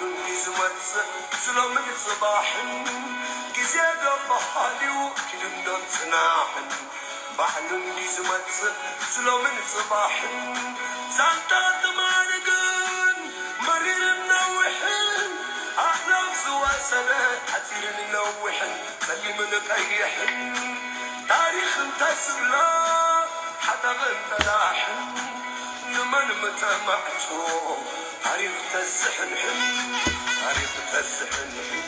ዝመጽእ ዝሎምን ጽባሕን ግዜ ዶ በሃልዩ ኪድንዶን ጽናሕን ባዕሉ እንዲ ዝመጽእ ዝሎምን ጽባሕን ዛንታ ትማሊ ግን መሪርን ነዊሕን ኣሕላፍ ዝወሰደ ሓጺርን ነዊሕን ጸሊምን ቀይሕን ታሪኽ እንተ ዝብሎ ሓጠቕን ጠላሕን ንመን ምተማዕጾ ታሪኽ ተዝሕንሕን ታሪኽ ተዝሕንሕን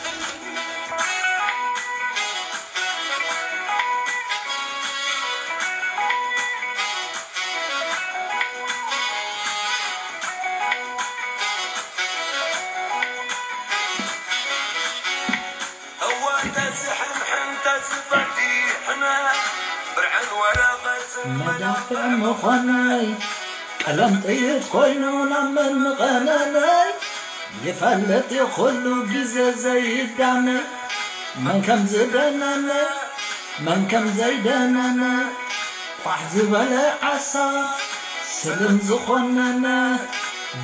እዋ ተዝሕንሕን ተዝፈዲሕነ ብርዕን ወረቐትን መዳፍዕ ምዃነይ ቀለም ጥይት ኮይኑ ናብ መን ምቐነነይ ይፈልጥ እዩ ኩሉ ግዜ ዘይዳነ መን ከም ዝደነነ መን ከም ዘይደነነ ቋሕ ዝበለ ዓሳ ስልም ዝኾነነ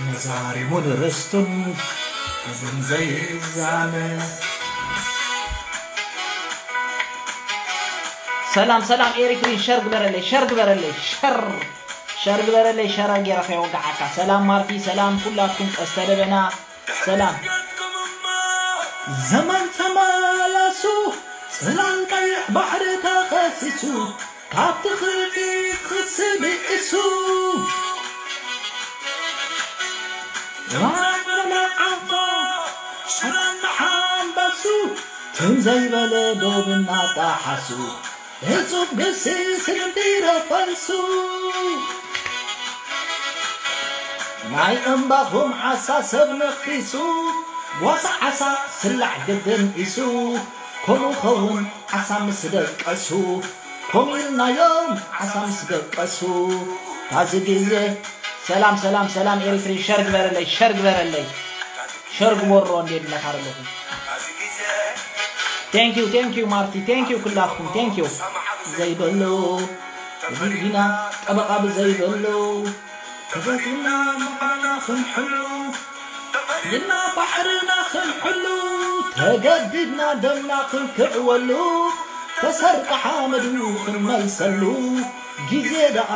ነዛሪሙን ርስቱን እዝን ዘይዛነ ሰላም ሰላም ኤሪትሪን ሸር ግበረለይ ሸር ግበረለይ ሸር ሸር ግበረለይ ሸር ጌራ ከይወጋዓካ ሰላም ማርቲ ሰላም ኩላትኩም ቀስተ ደበና ሰላም ዘመን ተመላሱ ጽላል ቀይሕ ባሕሪ ተኸሲሱ ካብቲ ክልፊት ክሲ ብኢሱ ዘማን በለ ዓንቶ ሽረን ሓንበሱ ትም ዘይበለ ዶብ እናጣሓሱ ህጹብ ግሲ ስግምቲ ረፈልሱ ናይ እምባኹም ዓሳ ሰብ ነኺሱ ጓሳ ዓሳ ስላዕ ግድን ኢሱ ከምኡ ኸውን ዓሳ ምስ ደቀሱ ከምኡ ኢልናዮም ዓሳ ምስ ደቀሱ ታዚ ግዜ ሰላም ሰላም ሰላም ኤሪትሪ ሸር ግበረለይ ሸር ግበረለይ ሸር ግበሮ እንዴት ነካረለኹም Thank you, thank you ማርቲ, thank you ኩላትኩም, thank you። ዘይበሉ ብህዝቢና ጠበቓ ብዘይበሉ ተፈቲና ምዃና ክንሕሉ ተፈሪና ባሕርና ክንሕሉ ተገዲድና ደምና ክንክዕወሉ ተሰርቀ ሓመዱ ክንመልሰሉ ግዜ ደኣ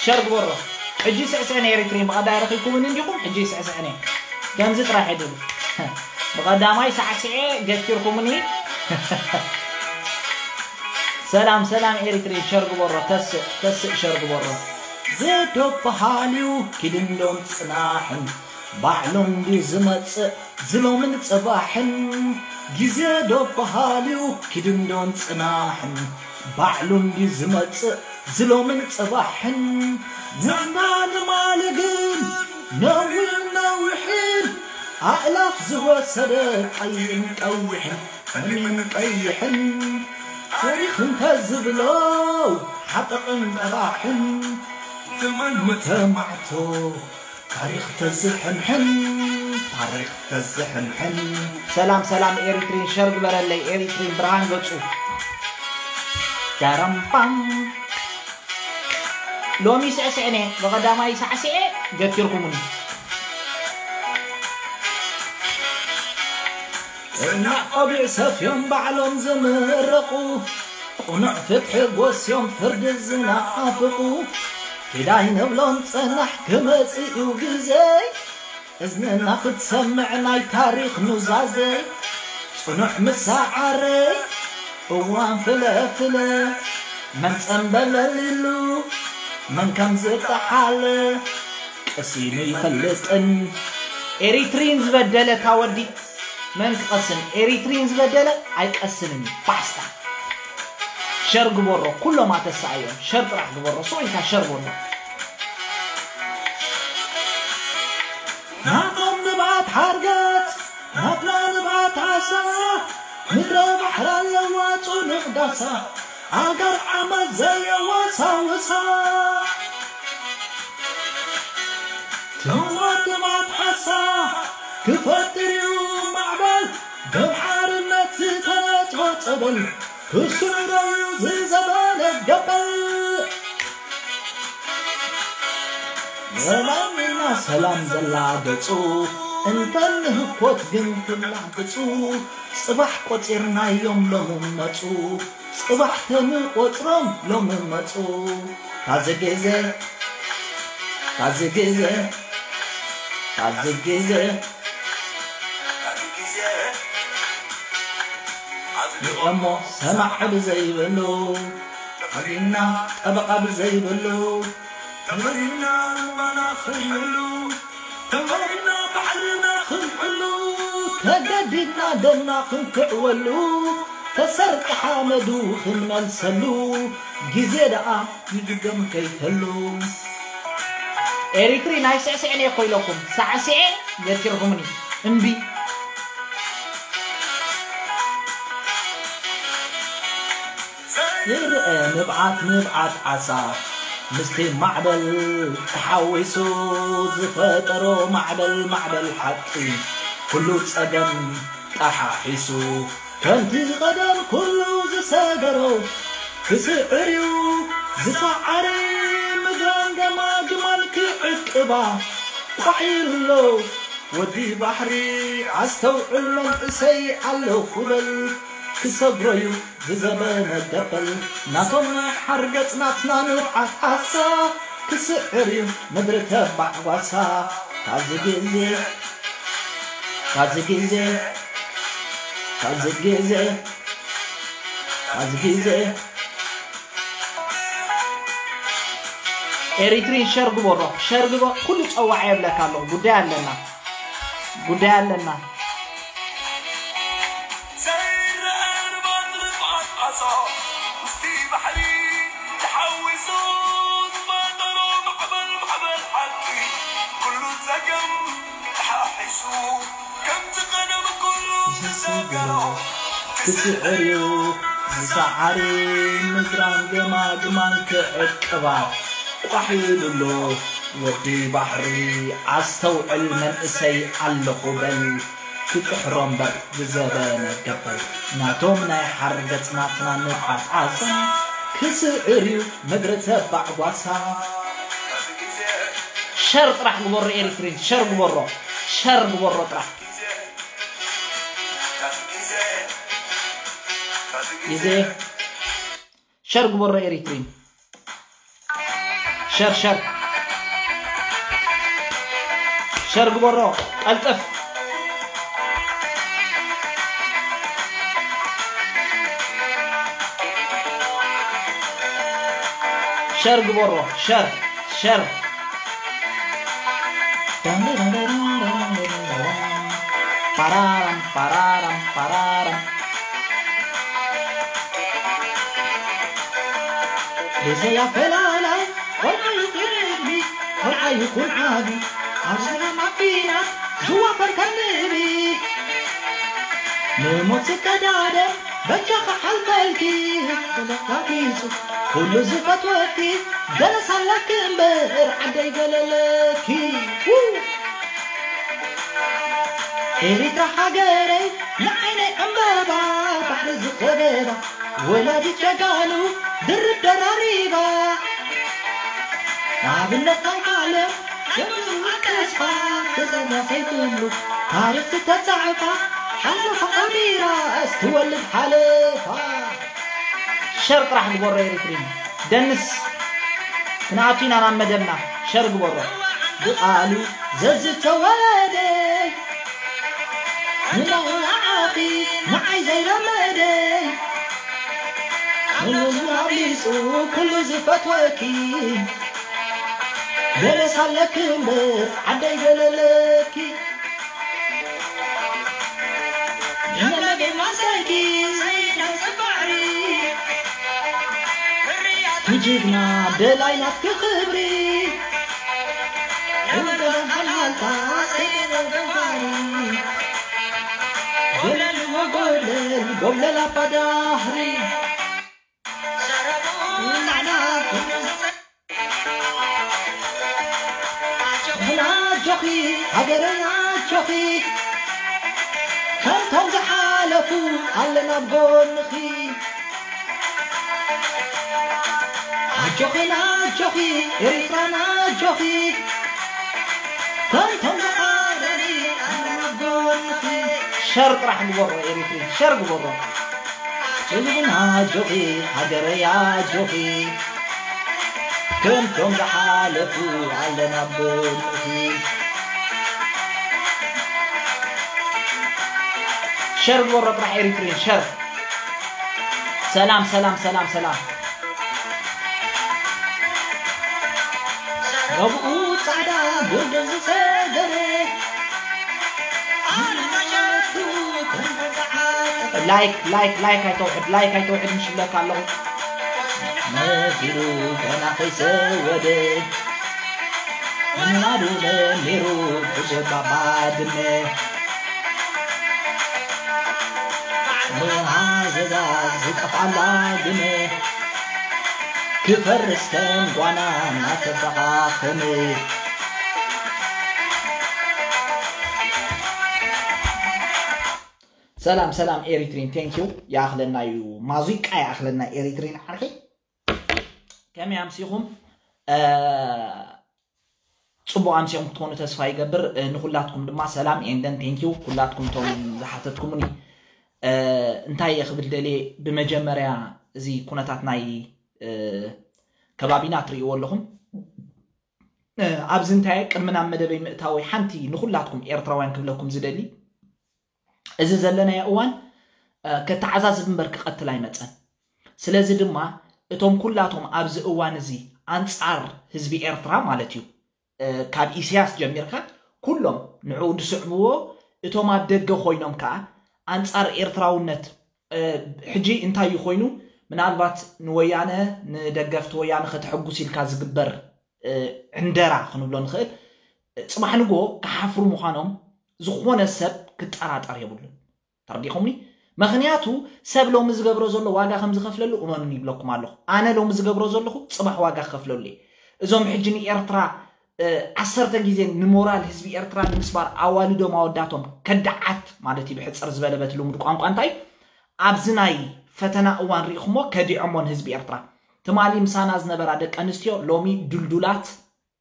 ሸር ግበሮ ሕጂ ስዕስዕኒ ኤሪትሪን ብቐዳይ ረኺብኩምኒ እንዲኹም ሕጂ ስዕስዕኒ ከምዚ ጥራሕ ዕድል ብቐዳማይ ሳዕስዐ ገቲርኩምኒ ሰላም ሰላም ኤሪትሪን ሸር ግበሮ ተስእ ተስእ ሸር ግበሮ ዘዶ በሃልዩ ኪድንዶን ጽናሕን ባዕሉ እንድዩ ዝመጽእ ዝሎምን ጽባሕን ግዜ ዶ በሃልዩ ኪድንዶን ጽናሕን ባዕሉ እንድዩ ዝመጽእ ዝሎምን ጽባሕን ንሕና ንማሊ ግን ነዊሕን ነዊሕን ኣእላፍ ዝወሰደ ቀይን ቀይሕን ጸሊምን ቀይሕን ታሪኽ እንተ ዝብሎ ሓጠቕን ጠባሕን ንመን ምተማዕቶ ታሪኽ ተዝሕንሕን ታሪኽ ተዝሕንሕን ሰላም ሰላም ኤሪትሪን ሸር ግበረለይ ኤሪትሪን ብርሃን ገጹ ዳራምፓም ሎሚ ስዕስዕነ ብቐዳማይ ሳዕስዐ ገቲርኩምኒ ጽናዕ ቆቢዕ ሰፍዮም ባዕሎም ዝምረቑ ቁኑዕ ፍትሒ ጎስዮም ፍርዲ ዝናፍቑ ኪዳይ ንብሎም ጸናሕ ክመጽእ እዩ ግዘይ እዝንና ክትሰምዕ ናይ ታሪኽ ኑዛዘይ ጽኑዕ ምሳዓረይ እዋን ፍለፍለ መን ጸንበለሊሉ መን ከም ዝጠሓለ ቀሲኑ ይፈልጥን ኤሪትሪን ዝበደለ ታወዲ መን ክቐስን ኤሪትሪን ዝበደለ ኣይቀስንን እዩ ባስታ ሸር ግበሮ ኩሎም ኣተሰኣዮም ሸር ጥራሕ ግበሮ ስቕ ኢልካ ሸር በሎ ናቶም ንብዓት ሓርገጽ ናትና ንብዓት ዓሳ ምድረ ባሕሪ ኣለዋ ጽኑዕ ዳሳ ኣገር ዓመት ዘየወሳውሳ ትንዋት ንብዓት ዓሳ ክፈጥር እዩ ማዕበል ደም ሓርነት ዝተነጽፎ ጸበል ክስረዩ ዝዘበነ ገበል። ሰላምና ሰላም ዘላ ገጹ እንተንህኮት ግን ትላግጹ። ጽባሕ ቆጺርናዮም ሎሚ መጹ። ጽባሕ ተንቆጽሮም ሎሚ መጹ። ታዚ ግዜ ታዚ ግዜ ታዚ ግዜ እሞ ሰማዕ ብዘይብሉ ተፈሪና ጠበቓ ብዘይብሉ ተፈሪና ልባና ክንሕሉ ተፈሪና ባሕርና ክንሕሉ ተገዲድና ደምና ክንክዕወሉ ተሰርቂ ሓመዱ ክንመልሰሉ ግዜ ደኣ ይድገም ከይተሉ። ኤሪትሪ ናይ ስዕስዕን እየ ኮይለኩም ሳዕስዐ ገቲርኩምኒ እምቢ። ይርአ ንብዓት ንብዓት ዓሳ ምስቲ ማዕበል ተሓዊሱ ዝፈጠሮ ማዕበል ማዕበል ሓቂ ኩሉ ጸገም ጠሓሒሱ ከምቲ ዝቐደም ኩሉ ዝሰገሮ ክስዕር እዩ ዝሰዓረ ምድራን ገማግማን ክዕቅባ ቋሕ ኢሉ ኣሎ። ወዲ ባሕሪ ኣስተውዕል መንእሰይ ኣለኹ በል ክሰግሮ እዩ ዝዘበነ ገበል ናቶም ናይ ሓርገጽ ናትና ንብዓት ዓሳ ክስዕር እዩ ምድሪ ተባዕ ጓሳ ታዚ ግዜ ታዚ ግዜ ታዚ ግዜ ታዚ ግዜ ኤሪትሪን ሸር ግበሮ ሸር ግበ ኩሉ ጸዋዕ የብለካ ኣለኹ ጉዳይ ኣለና ጉዳይ ኣለና ክስዕር እዩ ዝሰዓሪ ምድራን ገማግማን ክዕቅባ ቋሕ ኢሉ ኣሎ ወዲ ባሕሪ ኣስተውዕል መንእሰይ ኣለኹ በል ክጥሕሮ እምበር ዝዘበነ ገበል ናቶም ናይ ሓርገጽ ናትና ንብዓት ዓሳ ክስዕር እዩ ምድሪ ተባዕ ጓሳ ሸር ጥራሕ ግበሮ ኤሪትሪን ሸር ግበሮ ሸር ግበሮ ጥራሕ ግዜ ሸር ግበሮ ኤሪትሪን ሸር ሸር ሸር ግበሮ ቀልጥፍ ሸር ግበሮ ሸር ሸር ፓራራም ፓራራም ፓራራም ብዘይ ኣፈላላይ ቆልዓ ይኹን ዕድሚ ቆልዓ ይኹን ዓቢ ኣብ ሰላም ኣቢና ዝዋፈር ከም ንቢ ንሞት ዝቀዳደም በጃኻ ሓልፈልኪ ተለቃቂጹ ኩሉ ዝፈትወኪ ገለስ ኣለኪ እምበር ዓደይ ገለለኪ ኤሪትራ ሃገረይ ንዓይነይ ዕምበባ ባሕሪ ዝኸበባ ወላዲት ጀጋኑ ድርብ ደራሪባ ኣብነት ናይ ዓለም ጀምሩ ተስፋ ተዘኛ ዘይብሉ ታሪኽ ዝተጻዕፋ ሓለፋ ቀቢራ እስትወልድ ሓለፋ ሸር ጥራሕ ግበሮ ኤሪትሪን ደንስ ክንኣቱ ኢና ናብ መደብና ሸር ግበሮ ብቓሉ ዘዝተወለደ ንመውዓኺ ንዓይ ዘይለመደ ንሉሉ ኣብሊጹ ኩሉ ዝፈትወኪ ገለስ ኣለኪ እምበር ዓደይ ገለለኪ ንመለገይ ማሳይኪ ዘይዳስ ባሕሪ ትጅግና ደላይ ናትኪ ክብሪ ንመገበን ሓልሓልታ ዘይደለ ገባሪ ጎለል ወጎለል ጎብለል ኣባዳህሪ ኣጆኺ ሃገረይ ኣጆኺ ከምቶም ዝሓለፉ ኣለና ኣብ ጎንኺ ኣጆኺ ናጆኺ ኤሪትራና ኣጆኺ ከምቶም ዝሓረኒ ኣነ ኣብ ጎንኺ። ሸር ጥራሕ ግበሮ ኤሪትሪ ሸር ግበሮ። ህዝብና ኣጆኺ ሃገረይ ኣጆኺ ከምቶም ዝሓለፉ ኣለና ኣብ ጎንኺ። ሸር ግበሮ ጥራሕ ኤሪትሪን ሸር። ሰላም ሰላም ሰላም ሰላም። ረብኡ ጻዕዳ ጎልደን ዝሰገረ ላይክ ላይክ ላይክ ኣይተውሕድ ላይክ ኣይተውሕድ ምሽለካ ኣለኹ። መሲሉ ገና ከይሰወደ ምናዱ ለሚሩ ብጀባ ባድመ መሃዘዛ ዝጠፍኣላ ግመ ክፈርስ ከም ጓና እናተፈኻኸመ። ሰላም ሰላም ኤሪትሪን ቴንኪዩ። ይኣኽለና እዩ ማዙቃ ይኣኽለና ኤሪትሪን ዓርኪ። ከመይ ኣምሲኹም? ጽቡቕ ኣምሲኹም ክትኮኑ ተስፋ ይገብር። ንኹላትኩም ድማ ሰላም ኤንደን ቴንኪዩ ኩላትኩም እቶም ዝሓተትኩምኒ። እንታይ እየ ክብል ደልየ፣ ብመጀመርያ እዚ ኩነታት ናይ ከባቢና ትርእይዎ ኣለኹም። ኣብዚ እንታይ ቅድሚ ናብ መደበይ ምእታወይ ሓንቲ ንኹላትኩም ኤርትራውያን ክብለኩም ዝደሊ፣ እዚ ዘለናዮ እዋን ከተዓዛዝብ እምበር ክቐትል ኣይመፀን። ስለዚ ድማ እቶም ኩላቶም ኣብዚ እዋን እዚ ኣንፃር ህዝቢ ኤርትራ ማለት እዩ፣ ካብ ኢሳያስ ጀሚርካ ኩሎም ንዕኡ ዝስዕብዎ፣ እቶም ኣብ ደገ ኮይኖም ከዓ ኣንፃር ኤርትራውነት ሕጂ እንታይ እዩ ኮይኑ፣ ምናልባት ንወያነ ንደገፍቲ ወያነ ከተሐጉስ ኢልካ ዝግበር ዕንደራ ክንብሎ ንኽእል። ፅባሕ ንጎ ክሓፍሩ ምዃኖም ዝኾነ ሰብ ክጠራጠር የብሉን። ተረዲኹምኒ? ምኽንያቱ ሰብ ሎሚ ዝገብሮ ዘሎ ዋጋ ከም ዝኸፍለሉ እመኑን ይብለኩም ኣለኹ። ኣነ ሎሚ ዝገብሮ ዘለኹ ፅባሕ ዋጋ ክኸፍለሉ እየ። እዞም ሕጂ ንኤርትራ ዓሰርተ ግዜ ንሞራል ህዝቢ ኤርትራ ንምስባር ኣዋልዶም ኣወዳቶም ከዳዓት ማለት እዩ። ብሕፅር ዝበለ በቲ ልሙድ ቋንቋ እንታይ ኣብዚ ናይ ፈተና እዋን ርኢኹሞ ከዲዖሞ ንህዝቢ ኤርትራ። ትማሊ ምሳና ዝነበራ ደቂ ኣንስትዮ ሎሚ ድልዱላት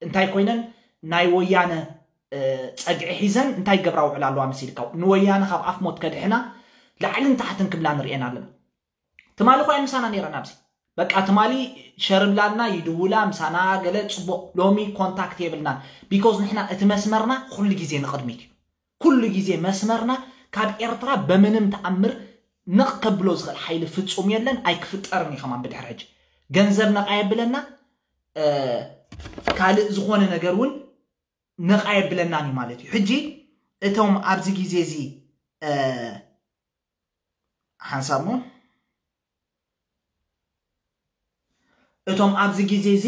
እንታይ ኮይነን ናይ ወያነ ፀግዒ ሒዘን እንታይ ገብራ ውዕላ ኣለዋ መሲልካ ንወያነ ካብ ኣፍ ሞት ከድሕና ላዕልን ታሕትን ክብላ ንሪኤን ኣለና። ትማሊ እኳ ምሳና ነይረን ኣብዚ በቃ ትማሊ ሸርብላልና ይድውላ ምሳና ገለ ፅቡቕ። ሎሚ ኮንታክት የብልናን። ቢኮዝ ንሕና እቲ መስመርና ኩሉ ግዜ ንቕድሚት እዩ። ኩሉ ግዜ መስመርና ካብ ኤርትራ በምንም ተኣምር ንቕ ከብሎ ዝኽእል ሓይሊ ፍጹም የለን፣ ኣይክፍጠርን እዩ ከማን ብድሕሪ ሕጂ። ገንዘብ ነቕ ኣየብለና፣ ካልእ ዝኾነ ነገር እውን ነቕ ኣየብለናን እዩ ማለት እዩ። ሕጂ እቶም ኣብዚ ግዜ እዚ ሓንሳብ እሞ እቶም ኣብዚ ግዜ እዚ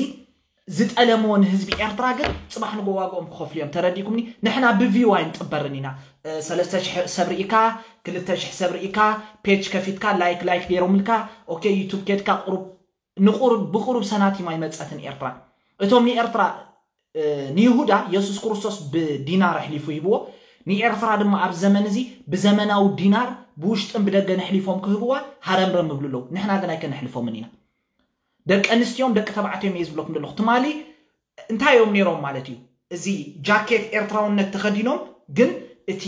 ዝጠለምዎ ንህዝቢ ኤርትራ ግን ፅባሕ ንጎ ዋግኦም ክኸፍሉ እዮም። ተረዲእኩምኒ? ንሕና ብቪው ኣይንጥበርን ኢና። ሰለስተ ሽሕ ሰብ ርኢካ፣ ክልተ ሽሕ ሰብ ርኢካ፣ ፔጅ ከፊትካ ላይክ ላይክ ገይሮምልካ፣ ኦኬ ዩቱብ ኬድካ ቁሩብ ንቁሩብ ብቁሩብ ሰናቲም ኣይመፀትን ኤርትራ። እቶም ንኤርትራ ንይሁዳ የሱስ ክርስቶስ ብዲናር ኣሕሊፉ ሂብዎ። ንኤርትራ ድማ ኣብ ዘመን እዚ ብዘመናዊ ዲናር ብውሽጥን ብደገን ኣሕሊፎም ክህብዋ ሃረምረም ይብሉ ኣለዉ። ንሕና ግን ኣይከነሕልፎምን ኢና። ደቂ ኣንስትዮን ደቂ ተባዕትዮን እየ ዝብለኩም ዘለኹ። ትማሊ እንታይ እዮም ነይሮም ማለት እዩ? እዚ ጃኬት ኤርትራውነት ተኸዲኖም ግን እቲ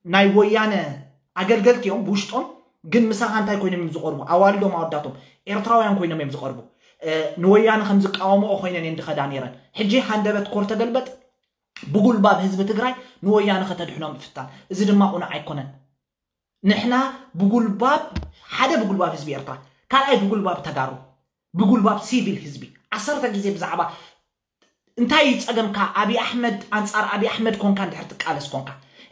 ናይ ወያነ ኣገልገልቲ እዮም ብውሽጦም ግን ምሳኻ እንታይ ኮይኖም እዮም ዝቐርቡ? ኣዋልዶም ኣወዳቶም ኤርትራውያን ኮይኖም እዮም ዝቐርቡ። ንወያነ ከም ዝቃወምኦ ኮይነን እየን ዝኸዳ ነይረን። ሕጂ ሃንደበት ኮር ተገልበጥ ብጉልባብ ህዝቢ ትግራይ ንወያነ ከተድሕኖም ምፍታን፣ እዚ ድማ ቁኑዕ ኣይኮነን። ንሕና ብጉልባብ ሓደ ብጉልባብ ህዝቢ ኤርትራ፣ ካልኣይ ብጉልባብ ተጋሩ፣ ብጉልባብ ሲቪል ህዝቢ ዓሰርተ ግዜ ብዛዕባ እንታይ እዩ ጸገምካ? ኣብይ ኣሕመድ ኣንጻር ኣብይ ኣሕመድ ኮንካ እንድሕር ትቃለስ ኮንካ፣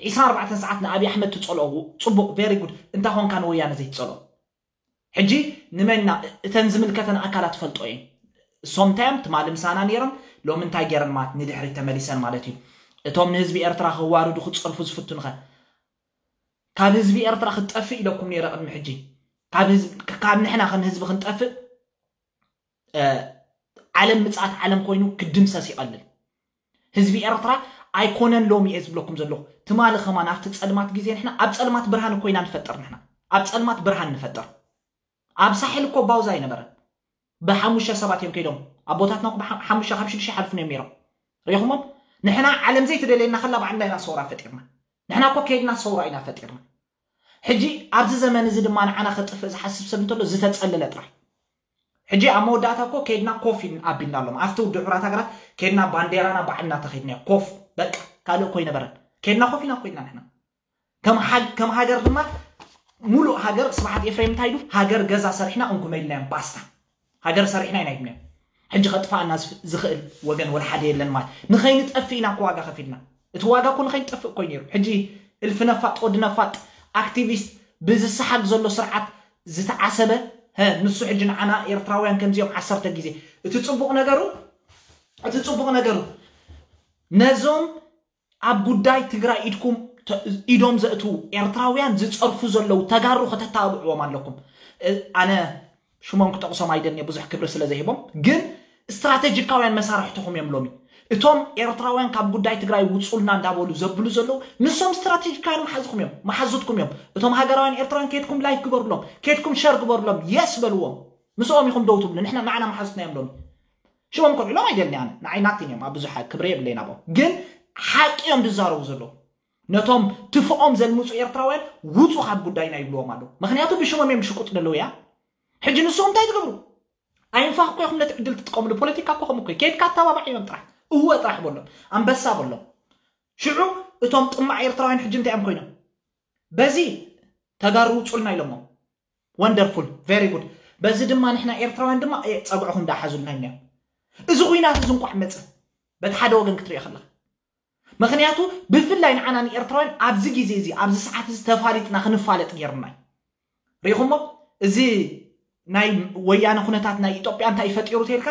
ዒስራን ኣርባዕተን ሰዓት ንኣብይ ኣሕመድ ትጸልኦ ጽቡቕ፣ ቨሪ ጉድ። እንታ ኮንካ ንወያነ ዘይትጸልኦ? ሕጂ ንመና እተን ዝምልከተን ኣካላት ፈልጦ እየን። እሶም እንታይ እዮም ትማሊ ምሳና ነይሮም፣ ሎሚ እንታይ ገይረን ማለት ንድሕሪት ተመሊሰን ማለት እዩ። እቶም ንህዝቢ ኤርትራ ከዋርዱ ክጸርፉ ዝፍትኑኸ ካብ ህዝቢ ኤርትራ ክትጠፍእ ኢለኩም ነይረ ቅድሚ ሕጂ። ካብ ህዝቢ ካብ ንሕና ከም ህዝቢ ክንጠፍእ ዓለም ምጽኣት ዓለም ኮይኑ ክድምሰስ ይቐልል። ህዝቢ ኤርትራ ኣይኮነን ሎሚ እየ ዝብለኩም ዘለኹ። ትማሊ ከማን ኣብቲ ጸልማት ግዜ ንሕና ኣብ ጸልማት ብርሃን እኮ ኢና ንፈጥር። ንሕና ኣብ ጸልማት ብርሃን ንፈጥር። ኣብ ሳሕል እኮ ባውዛ ኣይነበረን። ብሓሙሽተ ሰባት እዮም ከይዶም ኣቦታትና እኮ ብሓ- ሓሙሽተ ካብ ሽዱሽተ ሓልፉ እዮም ነይሮም። ሪኹሞም ንሕና ዓለም ዘይትደልየና ከላ ባዕልና ኢና ሰውራ ፈጢርና። ንሕና እኮ ከይድና ሰውራ ኢና ፈጢርና። ሕጂ ኣብዚ ዘመን እዚ ድማ ንዓና ከጥፍእ ዝሓስብ ሰብ እንተሎ ዝተጸለለ ጥራሕ። ሕጂ ኣብ መወዳእታ እኮ ከይድና ኮፍ ኢልን ኣቢልና ኣሎም ኣብቲ ውድብ ሕራት ሃገራት ከይድና ባንዴራና ባዕልና ተኸይድና ኮፍ በቃ ካልእ እኮ ይነበረን። ከይድና ኮፍ ኢና ኮይና ንሕና ከም ሃግ- ከም ሃገር ድማ ሙሉእ ሃገር ስብሓት ኤፍሬም እንታይ ኢሉ ሃገር ገዛ ሰሪሕና እንኩመ ኢልናዮም ባስታ። ሃገር ሰሪሕና ኢና ኢልናዮም። ሕጂ ከጥፋኣና ዝፍ- ዝኽእል ወገን ወላ ሓደ የለን ማለት ንኸይንጠፍእ ኢና እኮ ዋጋ ከፊልና። እቲ ዋጋ እኮ ንኸይንጠፍእ እኮ እዩ ነይሩ። ሕጂ እልፊ ነፋጥ ወዲ ነፋጥ ኣክቲቪስት ብዝሰሓግ ዘሎ ስርዓት ዝተዓሰበ ሀ ንሱ ሕጂ ንዓና ኤርትራውያን ከምዚኦም ዓሰርተ ግዜ እቲ ጽቡቕ ነገሩ እቲ ጽቡቕ ነገሩ ነዞም ኣብ ጉዳይ ትግራይ ኢድኩም ተ- ኢዶም ዘእትዉ ኤርትራውያን ዝጸርፉ ዘለዉ ተጋሩ ከተተባብዕዎም ኣለኩም። እ- ኣነ ሽሞም ክጠቕሶም ኣይደልየ ብዙሕ ክብሪ ስለ ዘይህቦም፣ ግን ስትራቴጂካውያን መሳርሕትኹም እዮም ሎሚ። እቶም ኤርትራውያን ካብ ጉዳይ ትግራይ ውጹልና እንዳበሉ ዘብሉ ዘለዉ ንሶም ስትራቴጂካውያን መሓዝኩም እዮም፣ መሓዙትኩም እዮም። እቶም ሃገራውያን ኤርትራውያን ከድኩም ላይክ ግበሩሎም፣ ከድኩም ሸር ግበሩሎም፣ የስ በልዎም። ምስኦም ኢኹም ደው ትብሉ፣ ንሕና ንዓና መሓዙትና እዮም ሎሚ። ሽሞም ከልዕሎም ኣይደልኒ ኣነ፣ ንዓይ ናቲን እዮም፣ ኣብ ብዙሕ ክብሪ የብለይን ኣብኦም። ግን ሓቂ እዮም ዝዛረቡ ዘለዉ። ነቶም ትፍኦም ዘልምፁ ኤርትራውያን ውፁ ካብ ጉዳይና ይብልዎም ኣለዉ። ምክንያቱ ብሽሞም እዮም ሽቁጥ ዘለዉ እያ። ሕጂ ንስኹም እንታይ ትገብሩ? ኣይንፋኽ እኮ ኢኹም ነቲ ዕድል ትጥቀምሉ። ፖለቲካ እኮ ከምኡ እኮ እዩ። ከይድካ ኣተባባዕ እዮም ጥራሕ። እወ ጥራሕ በሎም። ኣንበሳ በሎም። ሽዑ እቶም ጥማዕ ኤርትራውያን ሕጂ እንታይ እዮም ኮይኖም? በዚ ተጋሩ ውፁልና ኢሎሞ። ወንደርፉል፣ ቨሪ ጉድ። በዚ ድማ ንሕና ኤርትራውያን ድማ እ፣ ፀግዕኹም ዳሓዙልና ኢና። እዚ ኩናት እዚ እንቋዕ መፀ። በቲ ሓደ ወገን ክትሪኦ ከለኻ። ምክንያቱ ብፍላይ ንዓና ንኤርትራውያን ኣብዚ ግዜ እዚ ኣብዚ ሰዓት እዚ ተፋሊጥና ክንፋለጥ ገይሩና እዩ። ሪኢኹሞ? እዚ ናይ ወያነ ኩነታት ናይ ኢትዮጵያ እንታይ ፈጢሩ ተልካ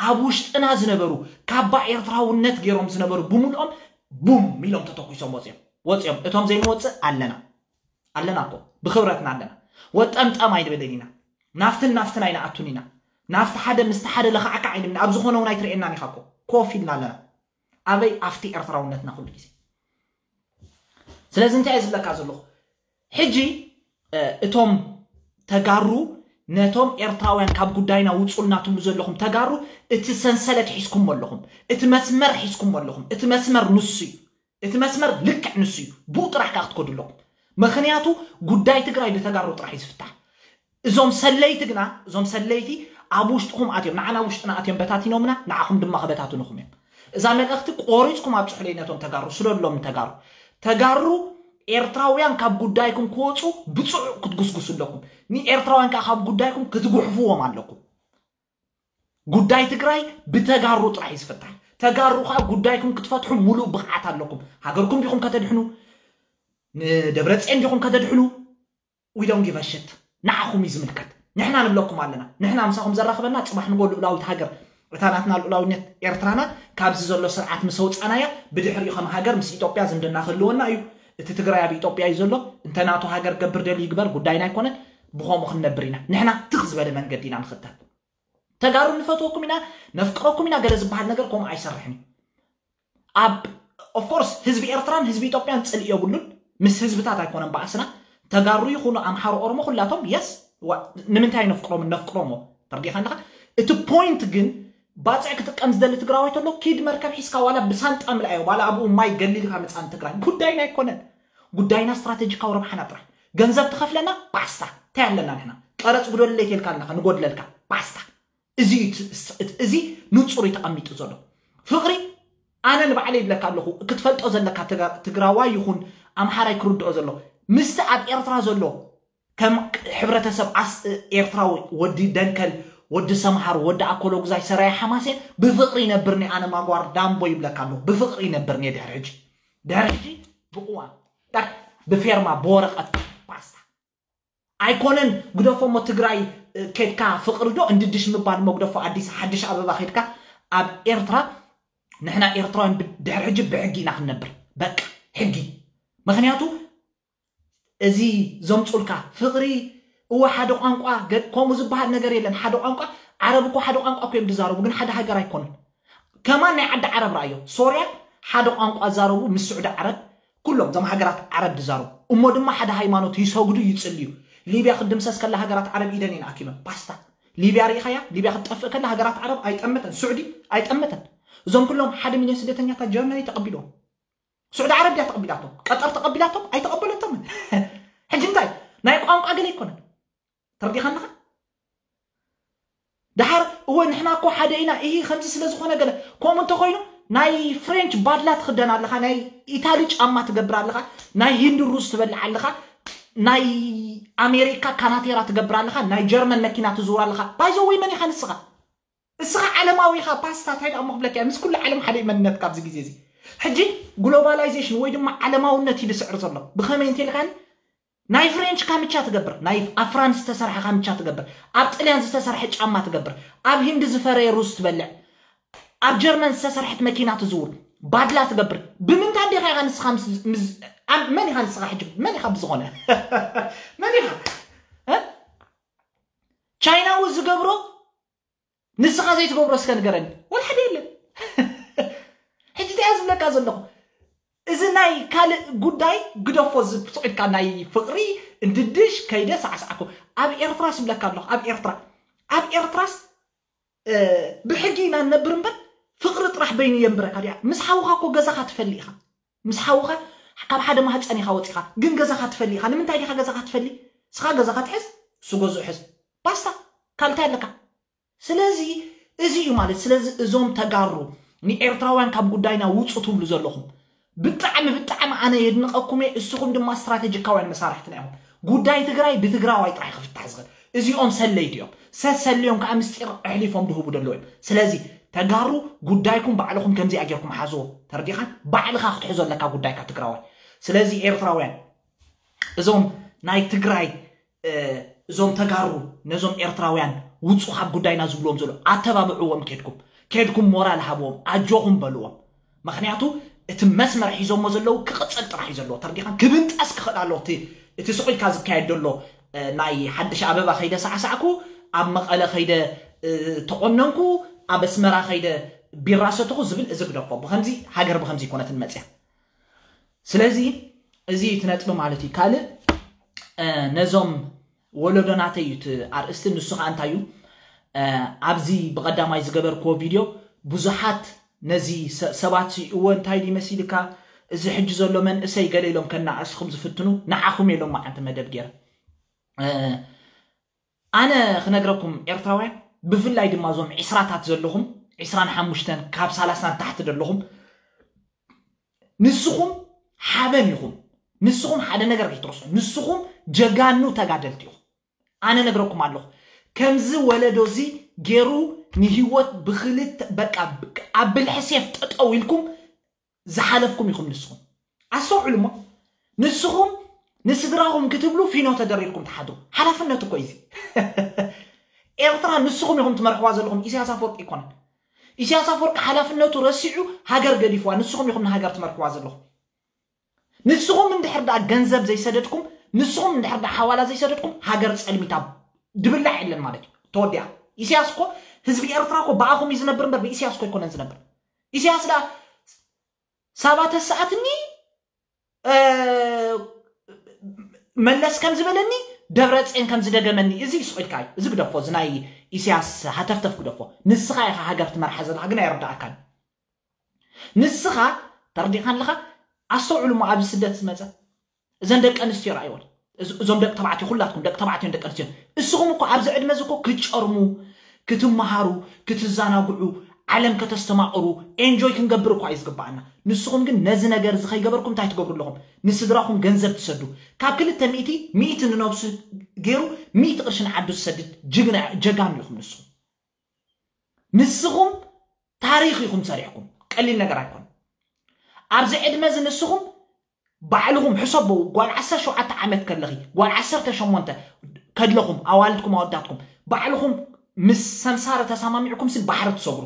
ኣብ ውሽጥና ዝነበሩ ካባ ኤርትራውነት ገይሮም ዝነበሩ ብምልኦም ቡም ኢሎም ተተኩሶም ወፂኦም ወፂኦም እቶም ዘይንወፅእ ኣለና ኣለና እኮ ብክብረትና ኣለና ወጠምጠም ኣይንበልን ኢና ናፍትን ናፍትን ኣይንኣቱን ኢና ናፍቲ ሓደ ምስቲ ሓደ ለኻዕካዕ ኣይንብልን ኣብ ዝኾነ እውን ኣይትርእየናን ኢኻ እኮ ኮፍ ኢልና ኣለና ኣበይ ኣብቲ ኤርትራውነትና ኩሉ ግዜ ስለዚ እንታይ እየ ዝብለካ ዘለኹ ሕጂ እቶም ተጋሩ ነቶም ኤርትራውያን ካብ ጉዳይና ውፁልና ትብሉ ዘለኹም ተጋሩ እቲ ሰንሰለት ሒዝኩም ኣለኹም እቲ መስመር ሒዝኩም ኣለኹም እቲ መስመር ንሱ እዩ እቲ መስመር ልክዕ ንሱ እዩ ብኡ ጥራሕ ከዓ ክትከዱ ኣለኹም ምክንያቱ ጉዳይ ትግራይ ብተጋሩ ጥራሕ እዩ ዝፍታሕ እዞም ሰለይቲ ግና እዞም ሰለይቲ ኣብ ውሽጥኹም ኣትዮም ንዓና ውሽጥና ኣትዮም በታቲኖምና ንዓኹም ድማ ክበታትኑኹም እዮም እዛ መልእኽቲ ቆሪፅኩም ኣብፅሑለይ ነቶም ተጋሩ ስደድሎም ንተጋሩ ተጋሩ ኤርትራውያን ካብ ጉዳይኩም ክወፁ ብፅዑቅ ክትጉስጉሱ ኣለኩም ንኤርትራውያን ከዓ ካብ ጉዳይኩም ክትጉሕፍዎም ኣለኩም ጉዳይ ትግራይ ብተጋሩ ጥራሕ እዩ ዝፍታሕ ተጋሩ ከዓ ጉዳይኩም ክትፈትሑ ሙሉእ ብቕዓት ኣለኩም ሃገርኩም ዲኹም ከተድሕኑ ንደብረፅዮን ዲኹም ከተድሕኑ we don't give a shit ንዓኹም እዩ ዝምልከት ንሕና ንብለኩም ኣለና ንሕና ምሳኹም ዘራኽበና ፅባሕ ንጎ ልኡላዊት ሃገር እታ ናትና ልኡላዊነት ኤርትራና ካብዚ ዘሎ ስርዓት ምስ ኣውፃእናያ ብድሕሪኡ ከም ሃገር ምስ ኢትዮጵያ ዝምድና ክህልወና እዩ እቲ ትግራይ ኣብ ኢትዮጵያ እዩ ዘሎ እንተ ናቱ ሃገር ገብር ደልዩ ይግበር ጉዳይና ኣይኮነን ብኸምኡ ክንነብር ኢና ንሕና ትኽ ዝበለ መንገዲ ኢና ንኽተል ተጋሩ ንፈትወኩም ኢና ነፍቅረኩም ኢና ገለ ዝበሃል ነገር ከምኡ ኣይሰርሕን እዩ ኣብ of course ህዝቢ ኤርትራን ህዝቢ ኢትዮጵያን ፅልኢ የብሉን ምስ ህዝብታት ኣይኮነን ባእስና ተጋሩ ይኹኑ ኣምሓሩ ኦሮሞ ኩላቶም የስ ንምንታይ ነፍቅሮም ነፍቅሮሞ ተርዲኻ ኣለኻ እቲ point ግን ባፅዕ ክጥቀም ዝደሊ ትግራዋይ ተሎ ኪድ መርከብ ሒዝካ ዋላ ብሳንጣ ምልኣዮ ዋላ ኣብኡ ማይ ገሊልካ ምፃን ትግራይ ጉዳይና ኣይኮነን ጉዳይና ስትራቴጂካዊ ረብሓና ጥራሕ ገንዘብ ትኸፍለና ባስታ እንታይ ኣለና ንሕና ቀረፅ ጉደለይ ተልካ ኣለካ ንጎድለልካ ባስታ እዚ እዩ እቲ- እቲ- እዚ ንጹር እዩ ተቐሚጡ ዘሎ ፍቕሪ ኣነ ንባዕለይ ይብለካ ኣለኹ ክትፈልጦ ዘለካ ትጋ- ትግራዋይ ይኹን ኣምሓራይ ክርድኦ ዘሎ ምስቲ ኣብ ኤርትራ ዘሎ ከም ሕብረተሰብ ኣስ ኤርትራዊ ወዲ ደንከል ወዲ ሰምሃር ወዲ ኣኮሎጉዛይ ሰራየ ሓማሴን ብፍቕሪ ይነብርኒ ኣነ ማጓር ዳምቦ ይብለካ ኣለኹ ብፍቕሪ ይነብርኒ ድሕሪ ሕጂ ድሕሪ ሕጂ ብቅዋም ዳክ ብፌርማ ብወረቐት ፓስታ ኣይኮነን ግደፎ እሞ ትግራይ ከድካ ፍቕሪ ዶ እንድድሽ ምባል እሞ ግደፎ ኣዲስ ሓድሽ ኣበባ ከድካ ኣብ ኤርትራ ንሕና ኤርትራውያን ድሕሪ ሕጂ ብሕጊ ኢና ክንነብር በቃ ሕጊ ምክንያቱ እዚ ዘምፁልካ ፍቕሪ እወ ሓደ ቋንቋ ከምኡ ዝበሃል ነገር የለን ሓደ ቋንቋ ዓረብ እኮ ሓደ ቋንቋ እኮ እዮም ዝዛረቡ ግን ሓደ ሃገር ኣይኮነን ከማን ናይ ዓዲ ዓረብ ረኣዮ ሶርያ ሓደ ቋንቋ ዛረቡ ምስ ስዑዲ ዓረብ ኩሎም እዞም ሃገራት ዓረብ ዝዛረቡ እሞ ድማ ሓደ ሃይማኖት ይሰግዱ ይፅልዩ ሊብያ ክድምሰስ ከላ ሃገራት ዓረብ ኢደን እየን ኣኪበን ባስታ ሊብያ ርኢኻያ? ሊብያ ክትጠፍእ ከላ ሃገራት ዓረብ ኣይጠመተን፣ ስዑዲ ኣይጠመተን። እዞም ኩሎም ሓደ ሚልዮን ስደተኛታት ጀርመን ተቐቢሎም። ስዑዲ ዓረብ ድያ ተቐቢላቶም? ቀጠር ተቐቢላቶም? ኣይተቐበለቶምን። ሕጂ እንታይ ናይ ቋንቋ ገለ ኣይኮነን። ተረዲኻንኻ? ደሓር እወ ንሕና እኮ ሓደ ኢና፣ ይህ ከምዚ ስለ ዝኾነ ገለ ከምኡ እንተኮይኑ ናይ ፍሬንች ባድላ ትኽደን ኣለኻ፣ ናይ ኢታሊ ጫማ ትገብር ኣለኻ፣ ናይ ሂንዲ ሩዝ ትበልዕ ኣለኻ፣ ናይ ኣሜሪካ ካናቴራ ትገብር ኣለኻ፣ ናይ ጀርመን መኪና ትዝውር ኣለኻ። ባይዘወይ መን ኢኻ ንስኻ? እስኻ ዓለማዊ ኢኻ። ፓስታ እንታይ ደኣ እሞ ክብለካ እየ፣ ምስ ኩሉ ዓለም ሓደ እዩ መንነትካ ኣብዚ ግዜ እዚ። ሕጂ ግሎባላይዜሽን ወይ ድማ ዓለማውነት እዩ ዝስዕር ዘሎ። ብኸመይ እንተ ኢልካኒ ናይ ፍሬንች ካምቻ ትገብር፣ ናይ ኣብ ፍራንስ ዝተሰርሐ ካምቻ ትገብር፣ ኣብ ጥልያን ዝተሰርሐ ጫማ ትገብር፣ ኣብ ሂንዲ ዝፈረየ ሩዝ ትበልዕ፣ ኣብ ጀርመን ዝተሰርሐት መኪና ትዝውር፣ ባድላ ትገብር። ብምንታይ እንዲኻ ኢኻ ንስኻ ምስ- ምስ- ኣብ- መን ኢኻ ንስኻ ሕጂ? መን ኢኻ ብዝኾነ? መን ኢኻ? እ? ቻይናዊ ዝገብሮ ንስኻ ዘይትገብሮ እስከ ንገረኒ። ወላ ሓደ የለን። ሕጂ እንታይ እየ ዝብለካ ዘለኹ? እዚ ናይ ካልእ ጉዳይ ግደፎ፣ ዝብፅቂልካ ናይ ፍቕሪ እንድድሽ ከይደ ሳዕሳዕኩ። ኣብ ኤርትራስ ይብለካ ኣለኹ፣ ኣብ ኤርትራ ኣብ ኤርትራስ ብሕጊ ኢና ንነብር እምበር ፍቕሪ ጥራሕ በይኑ የንብረካ ድያ? ምስ ሓውኻ እኮ ገዛኻ ትፈሊ ኢኻ። ምስ ሓውኻ ካብ ሓደ ማህፀን ኢኻ ወፂኻ፣ ግን ገዛኻ ትፈሊ ኢኻ። ንምንታይ ዲኻ ገዛኻ ትፈሊ? ስኻ ገዛኻ ትሕዝ፣ እሱ ገዝኡ ሕዝ። ባስታ። ካልታይ ኣለካ? ስለዚ እዚ እዩ ማለት። ስለዚ እዞም ተጋሩ ንኤርትራውያን ካብ ጉዳይና ውፁ ትብሉ ዘለኹም ብጣዕሚ ብጣዕሚ ኣነ የድንቐኩም እየ። እስኹም ድማ ስትራቴጂካውያን መሳርሕትና ኢኹም። ጉዳይ ትግራይ ብትግራዋይ ጥራሕ ክፍታሕ ዝኽእል። እዚኦም ሰለይቲ እዮም። ሰሰልዮም ከዓ ምስጢር ኣሕሊፎም ድህቡ ደለዉ እዮም። ስለዚ ተጋሩ ጉዳይኩም ባዕልኹም ከምዚኣ ጌርኩም ሓዝዎ። ተረዲኻን? ባዕልኻ ክትሕዞ ኣለካ ጉዳይካ ትግራዋይ። ስለዚ ኤርትራውያን እዞም ናይ ትግራይ እዞም ተጋሩ ነዞም ኤርትራውያን ውፁ ካብ ጉዳይና ዝብልዎም ዘሎ ኣተባብዕዎም። ኬድኩም ኬድኩም ሞራል ሃብዎም፣ ኣጆኹም በልዎም። ምክንያቱ እቲ መስመር ሒዞሞ ዘለዉ ክቕፅል ጥራሕ እዩ ዘለዎ። ተርዲኻን ክብንጠስ ክኽእል ኣለዎ። እቲ እቲ ስቑልካ ዝካየድ ዘሎ ናይ ሓድሽ ኣበባ ከይደ ሳዕሳዕኩ፣ ኣብ መቐለ ከይደ ተቆነንኩ፣ ኣብ ኣስመራ ከይደ ቢራ ሰተኹ ዝብል እዚ ግደፎ። ብከምዚ ሃገር ብከምዚ ይኮነትን መፅያ። ስለዚ እዚ እቲ ነጥቢ ማለት እዩ። ካልእ ነዞም ወለዶናተይ እዩ እቲ ኣርእስቲ። ንሱ ከዓ እንታይ እዩ? ኣብዚ ብቐዳማይ ዝገበርክዎ ቪድዮ ብዙሓት ነዚ ሰባት እወ እንታይ ድዩ መሲልካ፣ እዚ ሕጂ ዘሎ መንእሰይ ገለ ኢሎም ከነኣእስኹም ዝፍትኑ ንዓኹም ኢሎም መዓንቲ መደብ ገይረ። ኣነ ክነግረኩም ኤርትራውያን፣ ብፍላይ ድማ እዞም ዒስራታት ዘለኹም፣ ዒስራን ሓሙሽተን ካብ ሰላሳ ንታሕቲ ዘለኹም፣ ንስኹም ሓበን ኢኹም። ንስኹም ሓደ ነገር ከይትረስዑ። ንስኹም ጀጋኑ ተጋደልቲ ኢኹም። ኣነ ነግረኩም ኣለኹ፣ ከምዚ ወለዶ እዚ ገይሩ ንህይወት ብክልተ በቃ ኣብ ብልሒ ሴፍ ጠጠው ኢልኩም ዝሓለፍኩም ኢኹም። ንስኹም ኣስተውዕሉ እሞ፣ ንስኹም ንስድራኹም ክትብሉ ፊኖ ተደሪርኩም ትሓድሩ። ሓላፍነት እኮ እዩ እዚ። ኤርትራ ንስኹም ኢኹም ትመርሕዋ ዘለኹም፣ ኢሳያስ ኣፈወርቂ ኣይኮነን። ኢሳያስ ኣፈወርቂ ሓላፍነቱ ረሲዑ ሃገር ገዲፍዋ፣ ንስኹም ኢኹም ንሃገር ትመርሕዋ ዘለኹም። ንስኹም እንድሕር ደኣ ገንዘብ ዘይሰደድኩም፣ ንስኹም እንድሕር ደኣ ሓዋላ ዘይሰደድኩም፣ ሃገር ጸልሚታ ድብላዕ የለን ማለት እዩ። ተወዲኣ። ኢሳያስ እኮ ህዝቢ ኤርትራ እኮ ብኣኹም እዩ ዝነብር እምበር ብኢሳያስ እኮ ኣይኮነን ዝነብር። ኢሳያስ ደኣ ሳባ ተሰኣትኒ፣ መለስ ከም ዝበለኒ፣ ደብረፅዮን ከም ዝደገመኒ፣ እዚ ይስቑልካ እዩ። እዚ ግደፎ፣ እዚ ናይ ኢሳያስ ሃተፍተፍ ግደፎ። ንስኻ ኢኻ ሃገር ትመርሓ ዘለኻ ግን ኣይርዳእካን። ንስኻ ተረዲእካ ኣለኻ። ኣስተውዕሉ እሞ ኣብዚ ስደት ዝመፀ እዘን ደቂ ኣንስትዮ ረኣይወን። እዞም ደቂ ተባዕትዮ፣ ኩላትኩም ደቂ ተባዕትዮን ደቂ ኣንስትዮን፣ እስኹም እኮ ኣብዚ ዕድመ እዚ እኮ ክትጨርሙ፣ ክትመሃሩ፣ ክትዘናግዑ፣ ዓለም ከተስተማቕሩ፣ ኤንጆይ ክንገብር እኳ እዩ ዝግባኣና። ንስኹም ግን ነዚ ነገር እዚ ከይገበርኩም እንታይ ትገብሩ ኣለኹም? ንስድራኹም ገንዘብ ትሰዱ። ካብ ክልተ ሚእቲ ሚእቲ ንነብሱ ገይሩ ሚእቲ ቅርሺ ንዓዱ ዝሰድድ ጅግና ጀጋኑ ኢኹም ንስኹም። ንስኹም ታሪኽ ኢኹም ሰሪሕኩም፣ ቀሊል ነገር ኣይኮነ። ኣብዚ ዕድመ እዚ ንስኹም ባዕልኹም ሕሰቡ። ጓል ዓሰርተ ሸውዓተ ዓመት ከለኺ፣ ጓል ዓሰርተ ሸሞንተ ከለኹም፣ ኣዋልድኩም ኣወዳትኩም ባዕልኹም ምስ ሰምሳሪ ተሰማሚዕኩም ሲ ባሕሪ ትሰግሩ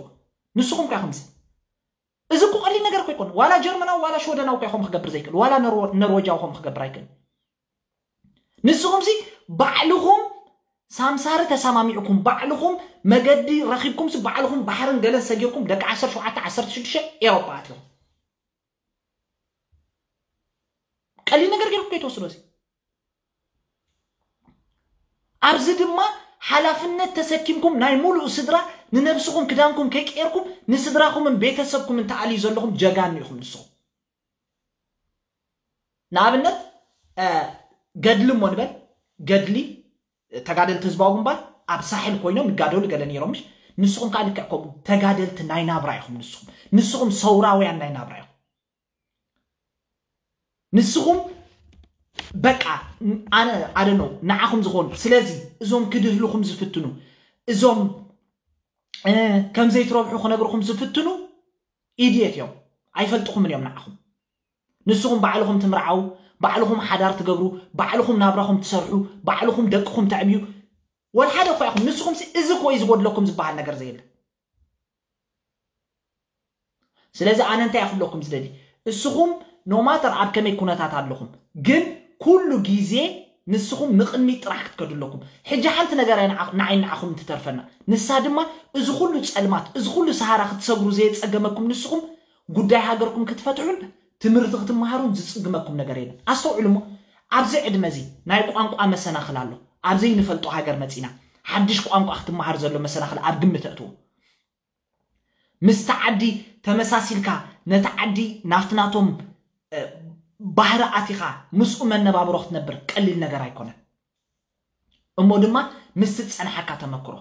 ንስኹም እኳ ኢኹም ሲ። እዚ እኮ ቀሊል ነገር እኮ ኣይኮነ። ዋላ ጀርመናዊ ዋላ ሽወደናዊ እኳ ኢኹም ክገብር ዘይክእል፣ ዋላ ነርወ- ነርወጃዊ ኹም ክገብር ኣይክእል። ንስኹም ሲ ባዕልኹም ሳምሳሪ ተሰማሚዕኩም፣ ባዕልኹም መገዲ ረኺብኩም ሲ ባዕልኹም ባሕርን ገለን ሰጊርኩም ደቂ ዓሰርተ ሸውዓተ ዓሰርተ ሽዱሽተ ኤውሮጳ ኣትኹም። ቀሊል ነገር ገይርኩም ከይትወስዶ ሲ። ኣብዚ ድማ ሓላፍነት ተሰኪምኩም ናይ ሙሉእ ስድራ ንነብስኹም ክዳንኩም ከይቀየርኩም ንስድራኹምን ቤተሰብኩምን ተኣልዩ ዘለኹም ጀጋኑ ኢኹም ንስኹም። ንኣብነት ገድሊ እሞ ንበል፣ ገድሊ ተጋደልቲ ህዝባዊ ግንባር ኣብ ሳሕል ኮይኖም ይጋደሉ ገለ ነይሮም፣ ምሽ ንስኹም ከዓ ልክዕ ከምኡ ተጋደልቲ ናይ ናብራ ኢኹም። ንስኹም ንስኹም ሰውራውያን ናይ ናብራ ኢኹም። ንስኹም በቃ ኣነ ኣደኖ ንዓኹም ዝኾኑ። ስለዚ እዞም ክድህልኹም ዝፍትኑ፣ እዞም ከም ዘይትረብሑ ክነግርኹም ዝፍትኑ ኢድየት እዮም። ኣይፈልጥኹምን እዮም ንዓኹም። ንስኹም ባዕልኹም ትምርዓው፣ ባዕልኹም ሓዳር ትገብሩ፣ ባዕልኹም ናብራኹም ትሰርሑ፣ ባዕልኹም ደቅኹም ተዕብዩ፣ ወላ ሓደ እኳ ኢኹም። ንስኹም እዚ እኮ እዩ ዝጎድለኩም ዝበሃል ነገር ዘየለ። ስለዚ ኣነ እንታይ ክብለኩም ዝደሊ፣ እስኹም ኖማተር ኣብ ከመይ ኩነታት ኣለኹም፣ ግን ኩሉ ግዜ ንስኹም ንቕድሚት ጥራሕ ክትከዱ ኣለኩም። ሕጂ ሓንቲ ነገር እያ ንዓ- ንዓይ ንዓኹም እንትተርፈና፣ ንሳ ድማ እዚ ኩሉ ጸልማት፣ እዚ ኩሉ ሰሃራ ክትሰግሩ ዘየጸገመኩም ንስኹም ጉዳይ ሃገርኩም ክትፈትሑን ትምህርቲ ክትመሃሩን ዝጽግመኩም ነገር የለን። ኣስተውዕሉ እሞ፣ ኣብዚ ዕድመ እዚ ናይ ቋንቋ መሰናኽል ኣሎ። ኣብ ዘይንፈልጦ ሃገር መጺና ሓድሽ ቋንቋ ክትመሃር ዘሎ መሰናኽል ኣብ ግምት ኣእትዎ። ምስቲ ዓዲ ተመሳሲልካ ነቲ ዓዲ ናፍቲ ናቶም ባህሪ ኣቲኻ ምስኡ መነባብሮ ክትነብር ቀሊል ነገር ኣይኮነን። እሞ ድማ ምስቲ ዝጸንሓካ ተመክሮ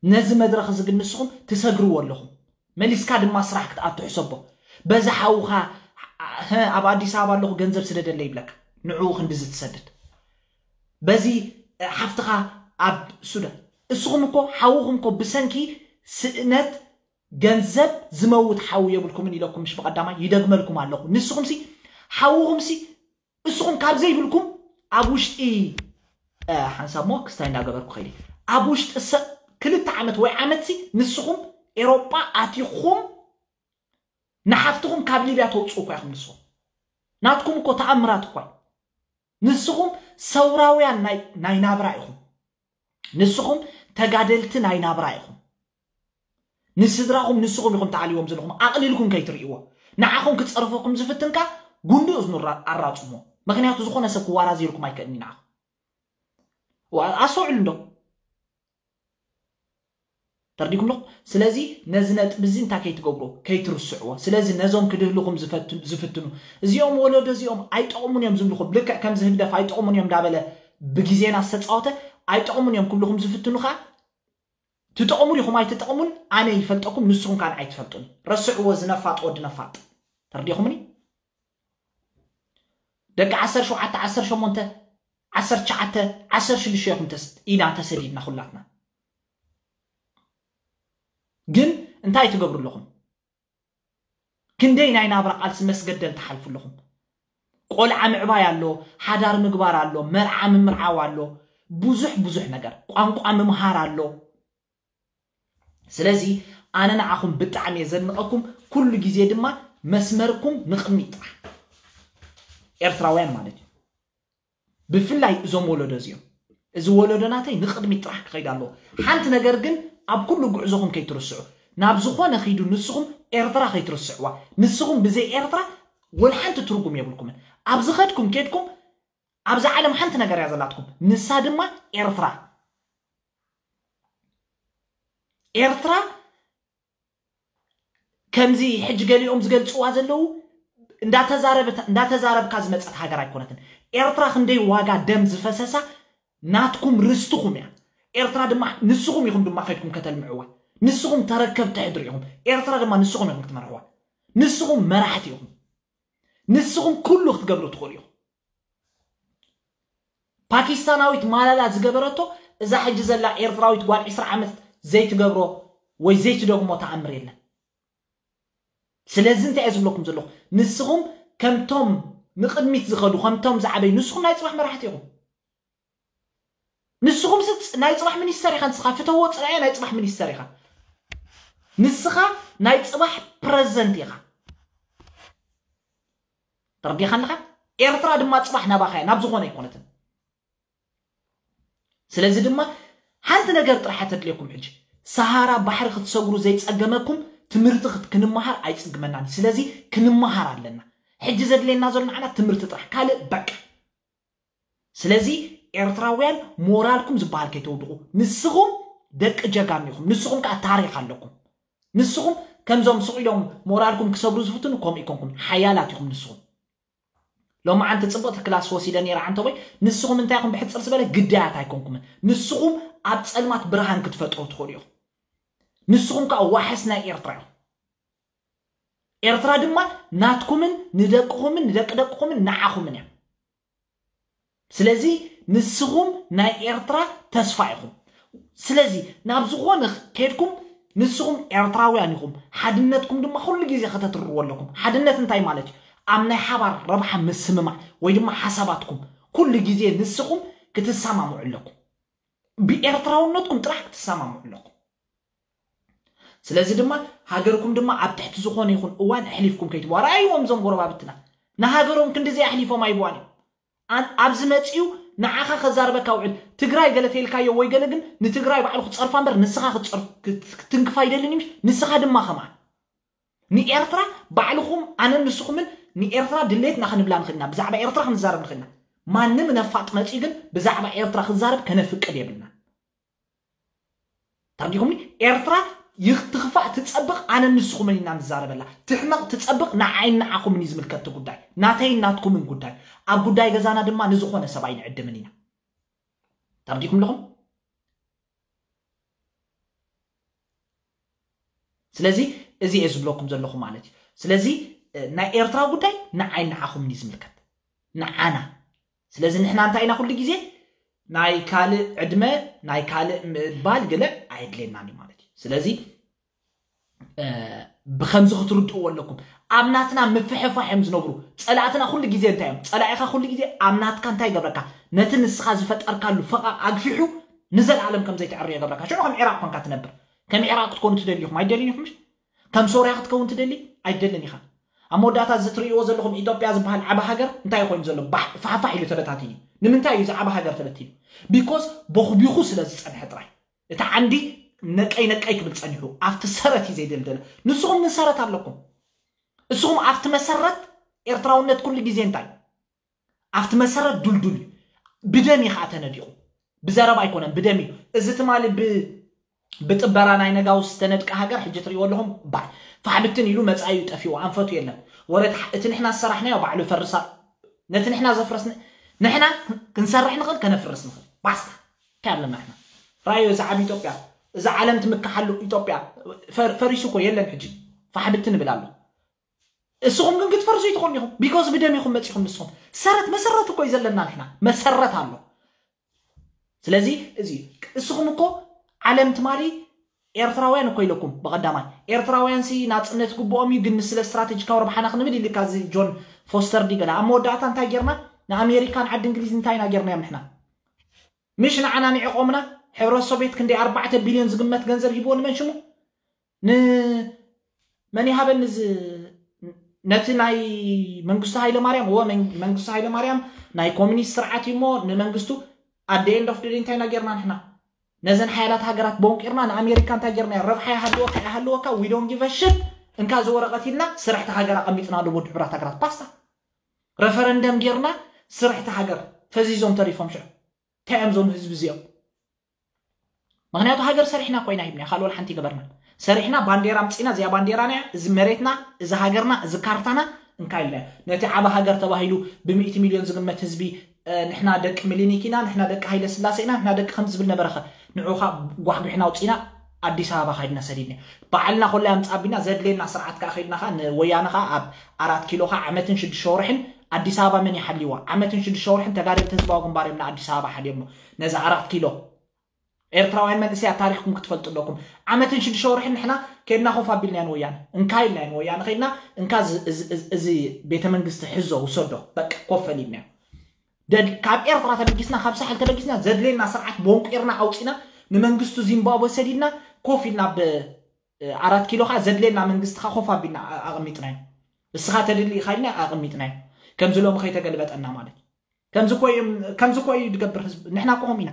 ነዚ መድረኽ እዚ ግን ንስኹም ትሰግርዎ ኣለኹም። መሊስካ ድማ ስራሕ ክትኣቱ ሕሰቦ። በዚ ሓውኻ ኣብ ኣዲስ ኣበባ ኣለኹ ገንዘብ ስደደለ ይብለካ፣ ንዕኡ ክንድዚ ትሰድድ። በዚ ሓፍትኻ ኣብ ሱዳን፣ እስኹም እኮ ሓውኹም እኮ ብሰንኪ ስእነት ገንዘብ ዝመውት ሓው የብልኩምን ኢለኩም ምሽ ብቐዳማይ ይደግመልኩም ኣለኹ። ንስኹምሲ ሓውኹምሲ እስኹም ካብ ዘይብልኩም ኣብ ውሽጢ ሓንሳብ ሞ ክስታይ እንዳገበርኩ ኸይዲ ኣብ ውሽጢ ክልተ ዓመት ወይ ዓመትሲ ንስኹም ኤሮጳ ኣቲኹም ንሓፍትኹም ካብ ሊብያ ተውፅኡ እኳ ኢኹም። ንስኹም ናትኩም እኮ ተኣምራት እኳ እዩ። ንስኹም ሰውራውያን ናይ ናብራ ኢኹም። ንስኹም ተጋደልቲ ናይ ናብራ ኢኹም። ንስድራኹም ንስኹም ኢኹም ተኣልይዎም ዘለኹም። ኣቕሊልኩም ከይትርእይዎ፣ ንዓኹም ክፀርፈኩም ዝፍትንካ ጉንዲ እዝኑ ኣራፅሞ። ምክንያቱ ዝኾነ ሰብ ክዋራዘየልኩም ኣይክእልን እዩ ንዓኹም። ኣስተውዕሉ እንዶ። ተርዲኩም ኣለኹም። ስለዚ ነዚ ነጥቢ እዚ እንታይ ከይትገብሮ ከይትርስዕዎ። ስለዚ ነዞም ክድህልኹም ዝፍትኑ እዚኦም ወለዶ እዚኦም ኣይጠቕሙን እዮም ዝብልኹም፣ ልክዕ ከምዚ ህግደፍ ኣይጠቕሙን እዮም እንዳበለ ብግዜና ዝተፃወተ ኣይጠቕሙን እዮም ክብልኹም ዝፍትኑ ከዓ ትጠቕሙ ዲኹም ኣይትጠቕሙን ኣነ ይፈልጠኩም፣ ንስኹም ከዓ ንዓይ ትፈልጡኒ። ረስዕዎ፣ ዝነፋጥ ወዲ ነፋጥ። ተርዲኹምኒ? ደቂ ዓሰርተ ሸውዓተ፣ ዓሰርተ ሸሞንተ፣ ዓሰርተ ትሽዓተ፣ ዓሰርተ ሽዱሽተ ኢኹም ኢና ተሰዲድና ኩላትና። ግን እንታይ ትገብሩ ኣለኹም? ክንደይ ናይ ናብራ ቃልሲ መስገደል ትሓልፉ ኣለኹም። ቆልዓ ምዕባይ ኣሎ፣ ሓዳር ምግባር ኣሎ፣ መርዓ ምምርዓው ኣሎ፣ ብዙሕ ብዙሕ ነገር፣ ቋንቋ ምምሃር ኣሎ። ስለዚ ኣነ ንዓኹም ብጣዕሚ እየ ዘድንቐኩም። ኩሉ ግዜ ድማ መስመርኩም ንቕድሚት ጥራሕ። ኤርትራውያን ማለት እዩ። ብፍላይ እዞም ወለዶ እዚኦም፣ እዚ ወለዶ ናተይ ንቕድሚት ጥራሕ ክኸይድ ኣለዎ። ሓንቲ ነገር ግን ኣብ ኩሉ ጉዕዞኹም ከይትርስዑ፣ ናብ ዝኾነ ኺዱ ንስኹም ኤርትራ ከይትርስዕዋ። ንስኹም ብዘይ ኤርትራ ወላ ሓንቲ ትርጉም የብልኩምን። ኣብ ዝኸድኩም ኬድኩም ኣብዛ ዓለም ሓንቲ ነገር እያ ዘላትኩም፣ ንሳ ድማ ኤርትራ። ኤርትራ ከምዚ ሕጂ ገሊኦም ዝገልፅዋ ዘለዉ እንዳተዛረብካ ዝመፀት ሃገር ኣይኮነትን። ኤርትራ ክንደይ ዋጋ ደም ዝፈሰሳ ናትኩም ርስትኹም እያ። ኤርትራ ድማ ንስኹም ኢኹም ድማ ከድኩም ከተልምዕዋ። ንስኹም ተረከብቲ ሕድሪ ኢኹም። ኤርትራ ድማ ንስኹም ኢኹም ክትመርሕዋ። ንስኹም መራሕቲ ኢኹም። ንስኹም ኩሉ ክትገብሩ ትኽእሉ ኢኹም። ፓኪስታናዊት ማላላ ዝገበረቶ እዛ ሕጂ ዘላ ኤርትራዊት ጓል ዕስራ ዓመት ዘይትገብሮ ወይ ዘይትደግሞ ተኣምር የለን። ስለዚ እንታይ እየ ዝብለኩም ዘለኹ? ንስኹም ከምቶም ንቕድሚት ዝኸዱ፣ ከምቶም ዝዓበዩ፣ ንስኹም ናይ ፅባሕ መራሕቲ ኢኹም። ንስኹም ናይ ፅባሕ ሚኒስተር ኢኻ። ንስኻ ፍተዎ ፅላየ ናይ ፅባሕ ሚኒስተር ኢኻ። ንስኻ ናይ ፅባሕ ፕረዚደንት ኢኻ። ተረዲኻ ኣለኻ? ኤርትራ ድማ ፅባሕ ናባኻ እያ፣ ናብ ዝኾነ ኣይኮነትን። ስለዚ ድማ ሓንቲ ነገር ጥራሕ ተድልየኩም። ሕጂ ሰሃራ ባሕሪ ክትሰግሩ ዘይፀገመኩም ትምህርቲ ክንመሃር ኣይፅግመናን። ስለዚ ክንመሃር ኣለና። ሕጂ ዘድልየና ዘሎ ንዓና ትምህርቲ ጥራሕ፣ ካልእ በቃ። ስለዚ ኤርትራውያን ሞራልኩም ዝበሃል ከይተውድቑ። ንስኹም ደቂ ጀጋኑ ኢኹም። ንስኹም ከዓ ታሪኽ ኣለኩም። ንስኹም ከምዞም ስቕ ኢሎም ሞራልኩም ክሰብሩ ዝፍትኑ ከምኡ ኣይኮንኩም። ሓያላት ኢኹም ንስኹም። ሎማዓንቲ ጽብቕቲ ክላስ ወሲደ ነይረ ዓንተቦይ። ንስኹም እንታይ ኢኹም? ብሕጽር ዝበለ ግዳያት ኣይኮንኩምን። ንስኹም ኣብ ጸልማት ብርሃን ክትፈጥሩ ትኽእሉ ኢኹም። ንስኹም ከዓ ዋሕስ ናይ ኤርትራ ኢኹም። ኤርትራ ድማ ናትኩምን ንደቅኹምን ንደቂ ደቅኹምን ንዓኹምን እያ። ስለዚ ንስኹም ናይ ኤርትራ ተስፋ ኢኹም። ስለዚ ናብ ዝኾነ ከድኩም ንስኹም ኤርትራውያን ኢኹም። ሓድነትኩም ድማ ኩሉ ግዜ ከተትርርዎ ኣለኩም። ሓድነት እንታይ ማለት እዩ? ኣብ ናይ ሓባር ረብሓ ምስምማዕ ወይ ድማ ሓሳባትኩም ኩሉ ግዜ ንስኹም ክትሰማምዑ ኣለኩም። ብኤርትራውነትኩም ጥራሕ ክትሰማምዑ ኣለኩም። ስለዚ ድማ ሃገርኩም ድማ ኣብ ትሕቲ ዝኾነ ይኹን እዋን ኣሕሊፍኩም ከይትብዋ። ረኣይዎም እዞም ጎረባብትና ንሃገሮም ክንድዚ ኣሕሊፎም ኣይብዋን እዮም። ኣን- ኣብዚ መፅኡ ንዓኻ ከዛርበካ ውዕል ትግራይ ገለ ተይልካዮ ወይ ገለ ግን ንትግራይ ባዕሉ ክፀርፋ እምበር ንስኻ ክትፀርፍ ክት- ክትንክፍ ኣይደልን እዩ። ንስኻ ድማ ከምኣ ንኤርትራ ባዕልኹም ኣነን ንስኹምን ንኤርትራ ድሌትና ክንብላ ንኽእልና ብዛዕባ ኤርትራ ክንዛረብ ንኽእልና ማንም ነፋጥ መፅኡ ግን ብዛዕባ ኤርትራ ክዛረብ ከነፍቅድ የብልና። ተረዲኹምኒ? ኤርትራ ይትኽፋእ ትጸብቕ ኣነ ንስኹምን ኢና ንዛረበላ። ትሕመቕ ትጸብቕ ንዓይን ንዓኹምን እዩ ዝምልከት እቲ ጉዳይ። ናተይን ናትኩምን ጉዳይ። ኣብ ጉዳይ ገዛና ድማ ንዝኾነ ሰብ ኣይንዕድምን ኢና። ተረዲኹም ኣለኹም? ስለዚ እዚ እየ ዝብለኩም ዘለኹ ማለት እዩ። ስለዚ እ፣ ናይ ኤርትራ ጉዳይ ንዓይን ንዓኹምን እዩ ዝምልከት። ንዓና ስለዚ ንሕና እንታይ ኢና ኩሉ ግዜ ናይ ካልእ ዕድመ ናይ ካልእ ምባል ገለ ኣየድልየናን እዩ ማለት እዩ። ስለዚ እ፣ ብከምዚ ክትርድእዎ ኣለኩም። ኣብ ናትና ምፍሕፋሕ እዮም ዝነብሩ። ጸላእትና ኩሉ ግዜ እንታይ እዮም? ጸላኢኻ ኩሉ ግዜ ኣብ ናትካ እንታይ ይገብረካ? ነቲ ንስኻ ዝፈጠርካሉ ፈቓቕ ኣግፊሑ ንዘለኣለም ከም ዘይትዕሪ ይገብረካ። ሽዑ ከም ዒራቕ ኮንካ ትነብር። ከም ዒራቕ ክትኮኑ ትደልዩ ኢኹም ኣይደልዩን ኢኹም። ከም ሶርያ ክትከውን ትደሊ ኣይደልን ኢኻ። ኣብ መወዳእታ እዚ ትርእይዎ ዘለኹም ኢትዮጵያ ዝበሃል ዓቢ ሃገር እንታይ ኮይኑ ዘሎ? ባሕ- ፋሕፋሕ ኢሉ ተበታቲኑ። ንምንታይ እዩ እዚ ዓቢ ሃገር ተበቲኑ? ቢኮዝ ቦኽቢኹ ስለ ዝጸንሐ ጥራይ። እቲ ዓንዲ ነቀይ ነቀይ ክብል ጸኒሑ ኣብቲ ሰረት እዩ ዘይደልደለ። ንስኹም ምን ሰረት ኣለኩም? እስኹም ኣብቲ መሰረት ኤርትራውነት ኩሉ ግዜ እንታይ ኣብቲ መሰረት ዱልዱል እዩ። ብደም እዩ ከዓ ተነዲቑ። ብዘረባ ኣይኮነን ብደም እዩ። እዚ ትማሊ ብ- ብጥበራ ናይ ነጋውስ ዝተነድቀ ሃገር ሕጂ ትሪእዎ ኣለኹም። ባይ ፋሕብትን ኢሉ መፃዩ ጠፊኡ ኣንፈቱ የለን። ወረ እቲ ንሕና ዝሰራሕናዮ ባዕሉ ፈርሳ ነቲ ንሕና ዘፍረስን ንሕና ክንሰርሕ ንኽእል ከነፍርስ ንኽእል ባስታ እንታይ ኣለና ንሕና ራዮ እዚ ዓብ ኢትዮጵያ እዚ ዓለም ትምክሓሉ ኢትዮጵያ ፈሪሱ እኮ የለን ሕጂ ፋሕብት ንብል ኣሎ እስኹም ግን ክትፈርሱ ይትኾኑ ኢኹም ቢኮዝ ብደም ኢኹም መፂኹም ንስኹም ሰረት መሰረት እኮ እዩ ዘለና ንሕና መሰረት ኣሎ ስለዚ እዚ እስኹም እኮ ዓለም ትማሊ ኤርትራውያን እኮ ኢለኩም ብቐዳማይ ኤርትራውያን ሲ ናጽነት ግብኦም እዩ ግን ንስለ ስትራቴጂካዊ ረብሓና ክንብል ኢልካ እዚ ጆን ፎስተር ዲ ገለ ኣብ መወዳእታ እንታይ ጌርና ንኣሜሪካን ዓዲ እንግሊዝ እንታይ ኢና ጌርናዮም ንሕና ምሽ ንዓና ንዕቆምና ሕብረት ሶቪየት ክንደይ ኣርባዕተ ቢልዮን ዝግመት ገንዘብ ሂብዎ ንመን ሽሙ ንመን ይሃበኒ እዚ ነቲ ናይ መንግስቱ ሃይለ ማርያም እወ መንግስቱ ሃይለ ማርያም ናይ ኮሚኒስት ስርዓት እዩ እሞ ንመንግስቱ ኣደ ኤንድ ኦፍ ደይ እንታይ ኢና ጌርና ንሕና ነዘን ሓያላት ሃገራት ቦንቂርና ንኣሜሪካ እንታይ ጌርና ረብሓ ይሃልወካ ይሃልወካ ዊ ዶን ጊቭ ሽት እንካ እዚ ወረቐት ኢልና ስራሕቲ ሃገር ኣቐሚጥና ኣሎ ወዲ ሕብራት ሃገራት ፓስታ ረፈረንደም ጌርና ስራሕቲ ሃገር ፈዚዞም ተሪፎም ሽዑ እንታይ እዮም ዞም ህዝቢ እዚኦም ምክንያቱ ሃገር ሰሪሕና ኮይና ሂብና ካልኦል ሓንቲ ይገበርና ሰሪሕና ባንዴራ ምፅና እዚኣ ባንዴራና እያ እዚ መሬትና እዚ ሃገርና እዚ ካርታና እንካ ኢልና ነቲ ዓበ ሃገር ተባሂሉ ብምእቲ ሚልዮን ዝግመት ህዝቢ ንሕና ደቂ ሚሊኒክ ኢና ንሕና ደቂ ሃይለ ስላሴ ኢና ንሕና ደቂ ከም ዝብል ነበረኸ ንዑኻ ጓሕጒሕና ውፅኢና ኣዲስ ኣበባ ካይድና ሰዲድና ባዕልና ኮላ ኣምፃቢና ዘድልየና ስርዓት ከዓ ከይድና ከዓ ንወያነ ከዓ ኣብ ኣራት ኪሎ ከዓ ዓመትን ሽዱሽተ ወርሕን ኣዲስ ኣበባ መን ይሓልይዋ ዓመትን ሽዱሽተ ወርሕን ተጋደልቲ ህዝባዊ ግንባር እዮም ንኣዲስ ኣበባ ሓልዮሞ ነዚ ኣራት ኪሎ ኤርትራውያን መንእሰያት ታሪኽኩም ክትፈልጡ ኣለኩም ዓመትን ሽዱሽተ ወርሕን ንሕና ከድና ኮፍ ኣቢልናዮ ንወያነ እንካ ኢልናዮ ንወያነ ከድና እንካ እዚ ቤተ መንግስቲ ሕዞ ውሰዶ በቃ ኮፍ ኣሊልናዮ ካብ ኤርትራ ተበጊስና ካብ ሳሕል ተበጊስና ዘድልየና ስርዓት ቦንቂርና ኣውፂና ንመንግስቱ ዚምባብወ ሰዲድና ኮፍ ኢልና ብ ኣራት ኪሎ ከዓ ዘድልየና መንግስቲ ከዓ ኮፍ ኣቢልና ኣቐሚጥናዮ እስኻ ተድሊ ኢኻ ኢልና ኣቐሚጥናዮ ከምዚ ሎሚ ከይተገልበጠና ማለት እዩ ከምዚ ኮይ ከምዚ ኮይ ድገብር ህዝብ ንሕና ኮም ኢና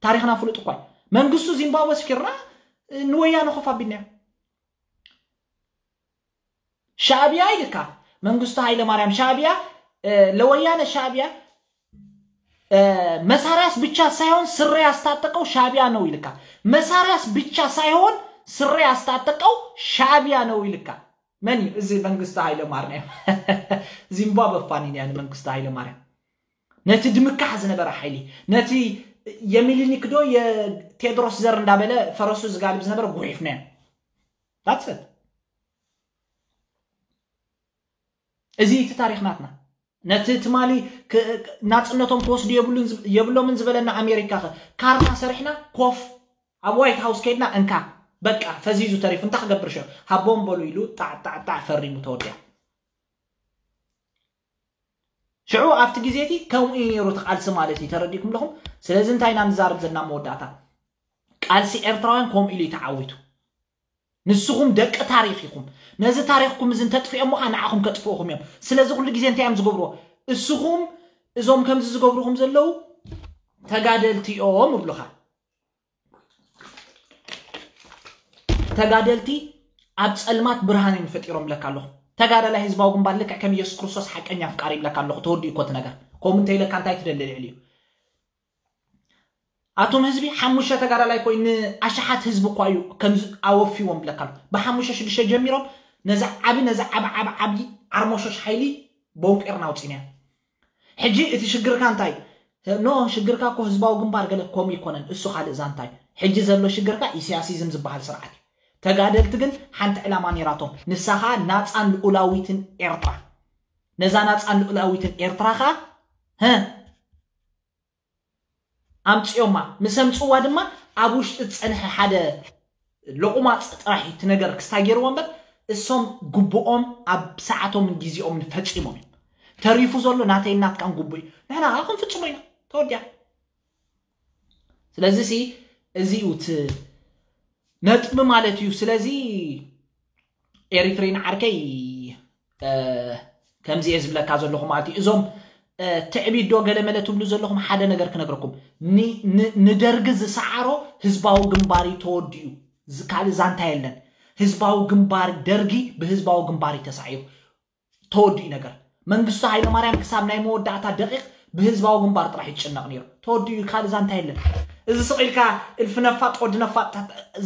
ታሪኽና ፍሉጥ እኳ መንግስቱ ዚምባብወ ስፊርና ንወያነ ኮፍ ኣቢልናዮ ሻዕቢያ ኢልካ መንግስቱ ሃይለ ማርያም ሻዕቢያ ለወያነ ሻዕቢያ መሳሪያስ ብቻ ሳይሆን ስሬ ያስታጠቀው ሻቢያ ነው ይልካ። መሳሪያስ ብቻ ሳይሆን ስሬ ያስታጠቀው ሻቢያ ነው ይልካ። መን እዩ እዚ? መንግስቱ ኃይለ ማርያም። ዚምባብወ ፋኒን ያ መንግስቱ ኃይለ ማርያም። ነቲ ድምካሕ ዝነበረ ሓይሊ፣ ነቲ የሚሊኒክ ዶ የቴድሮስ ዘር እንዳበለ ፈረሱ ዝጋልብ ዝነበረ ጉሒፍናዮ። That's it። እዚ እቲ ታሪኽ ናትና። ነቲ ትማሊ ክ- ክ- ናጽነቶም ክወስዱ የብሉን ዝ- የብሎምን ዝበለና ኣሜሪካ ከ ካርታ ሰሪሕና ኮፍ ኣብ ዋይት ሃውስ ከይድና እንካ በቃ ፈዚዙ ተሪፉ እንታይ ክገብር ሸ ሃቦም በሉ ኢሉ ጣዕ ጣዕ ጣዕ ፈሪሙ ተወዲያ። ሽዑ ኣብቲ ግዜ እቲ ከምኡ እዩ ነይሩ እቲ ቃልሲ ማለት እዩ። ተረዲእኩም ኣለኹም። ስለዚ እንታይ ኢና ንዛረብ ዘለና መወዳእታ ቃልሲ ኤርትራውያን ከምኡ ኢሉ እዩ ተዓዊቱ። ንስኹም ደቂ ታሪኽ ኢኹም። ነዚ ታሪኽኩም እዚ እንተጥፍኦም ኸዓ ንዓኹም ከጥፍኡኹም እዮም። ስለዚ ኩሉ ግዜ እንታይ እዮም ዝገብርዎ? እስኹም እዞም ከምዚ ዝገብሩኹም ዘለዉ ተጋደልቲ እዮም ይብሉኻ። ተጋደልቲ ኣብ ጸልማት ብርሃን እዮም ፈጢሮምለካ ኣለኹ። ተጋዳላይ ህዝባዊ ግንባር ልክዕ ከም ኢየሱስ ክርስቶስ ሓቀኛ ኣፍቃሪ ይብለካ ኣለኹ። ተወዲኡ እኮ እቲ ነገር። ከምኡ እንተኢለካ እንታይ ትደሊ ልዕሊ እዩ? ኣቶም ህዝቢ ሓሙሽተ ተጋዳላይ ኮይኑ ኣሽሓት ህዝቢ እኳ እዩ ከምዚ ኣወፊዎም ብለካ ኣሎ። ብሓሙሽተ ሽዱሽተ ጀሚሮም ነዚ ዓቢ ነዚ ዓቢ ዓቢ ዓቢ ዓርሞሾሽ ሓይሊ ቦንቂርና ኣውፂና። ሕጂ እቲ ሽግርካ እንታይ ኖ ሽግርካ እኮ ህዝባዊ ግንባር ገለ ከምኡ ይኮነን እሱ ካልእ ዛንታ እዩ። ሕጂ ዘሎ ሽግርካ ኢሳያሲዝም ዝበሃል ስርዓት እዩ። ተጋደልቲ ግን ሓንቲ ዕላማ ነይራቶም ንሳኻ ናፃን ልኡላዊትን ኤርትራ ነዛ ናፃን ልኡላዊትን ኤርትራኻ ኣምፅኦማ ምስ ኣምፅዋ ድማ ኣብ ውሽጢ ዝፀንሐ ሓደ ሎቑማፅ ጥራሕ እቲ ነገር ክስታይ ገይርዎ እምበር እሶም ግቡኦም ኣብ ሰዓቶምን ግዜኦምን ፈፂሞም እዮም። ተሪፉ ዘሎ ናተይን ናትካን ግቡእ እዩ። ንሕና ከዓ ክንፍፅሞ ኢና። ተወዲያ። ስለዚ ሲ እዚ እዩ እቲ ነጥቢ ማለት እዩ። ስለዚ ኤሪትሬን ዓርከይ ከምዚ እየ ዝብለካ ዘለኹ ማለት እዩ። እዞም ትዕቢት ዶ ገለመለ ትብሉ ዘለኹም ሓደ ነገር ክነግረኩም። ንደርጊ ዝሰዓሮ ህዝባዊ ግንባር እዩ ተወዲኡ። ካልእ ዛንታ የለን። ህዝባዊ ግንባር ደርጊ ብህዝባዊ ግንባር እዩ ተሳዒሩ። ተወዲኡ ነገር መንግስቱ ሃይለማርያም ክሳብ ናይ መወዳእታ ደቂቕ ብህዝባዊ ግንባር ጥራሕ ይጭነቕ ነይሩ። ተወዲኡ ካልእ ዛንታ የለን። እዚ ስቕ ኢልካ እልፊ ነፋጥ ወዲ ነፋጥ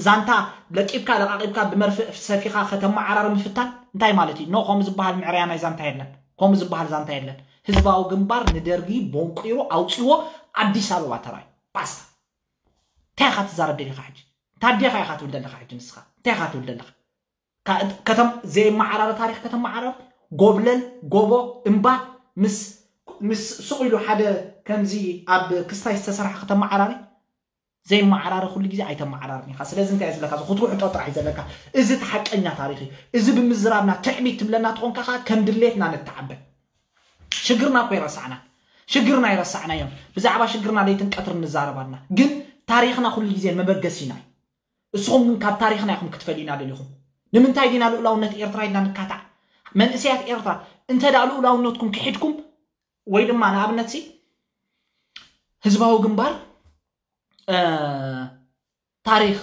ዛንታ ለቂብካ ለቓቂብካ ብመርፍእ ሰፊኻ ከተመዓራሪ ምፍታን እንታይ ማለት እዩ? ኖ ከምኡ ዝበሃል ምዕረያ ናይ ዛንታ የለን። ከምኡ ዝበሃል ዛንታ የለን። ህዝባዊ ግንባር ንደርጊ ቦንቂሩ ኣውፂዎ ኣዲስ ኣበባ ተራዩ። ባስታ። እንታይ ኢኻ ትዛረብ ደሊኻ ሕጂ? እንታይ ኣዴኻ ኢኻ ትብል ዘለኻ ሕጂ ንስኻ? እንታይ ኢኻ ትብል ዘለኻ? ከተም ዘይመዓራረ ታሪኽ ከተመዓራር ጎብለል ጎቦ እምባ ምስ ምስ ስቕ ኢሉ ሓደ ከምዚ ኣብ ክስታይ ዝተሰርሐ ከተመዓራሪ ዘይመዓራረ ኩሉ ግዜ ኣይተመዓራርን ኢኻ። ስለዚ እንታይ ዝለካ ክትውሕጦ ጥራሕ እዩ ዘለካ። እዚ እቲ ሓቀኛ ታሪኽ እዩ። እዚ ብምዝራብና ትዕቢት ትብለና ትኾንካ ከዓ ከም ድሌትና ንተዓበ። ሽግርና እኮ ይረሳዕና። ሽግርና ይረሳዕና እዮም። ብዛዕባ ሽግርና ለይትን ቀትርን ንዛረባልና። ግን ታሪኽና ኩሉ ግዜ መበገሲና እዩ። እስኹም ግን ካብ ታሪኽና ኢኹም ክትፈልዩና ደሊኹም። ንምንታይ ዲና ልኡላውነት ኤርትራ ኢልና ንካታዕ? መንእሰያት ኤርትራ እንተ ደኣ ልኡላውነትኩም ክሒድኩም ወይ ድማ ንኣብነት ሲ ህዝባዊ ግንባር ታሪኽ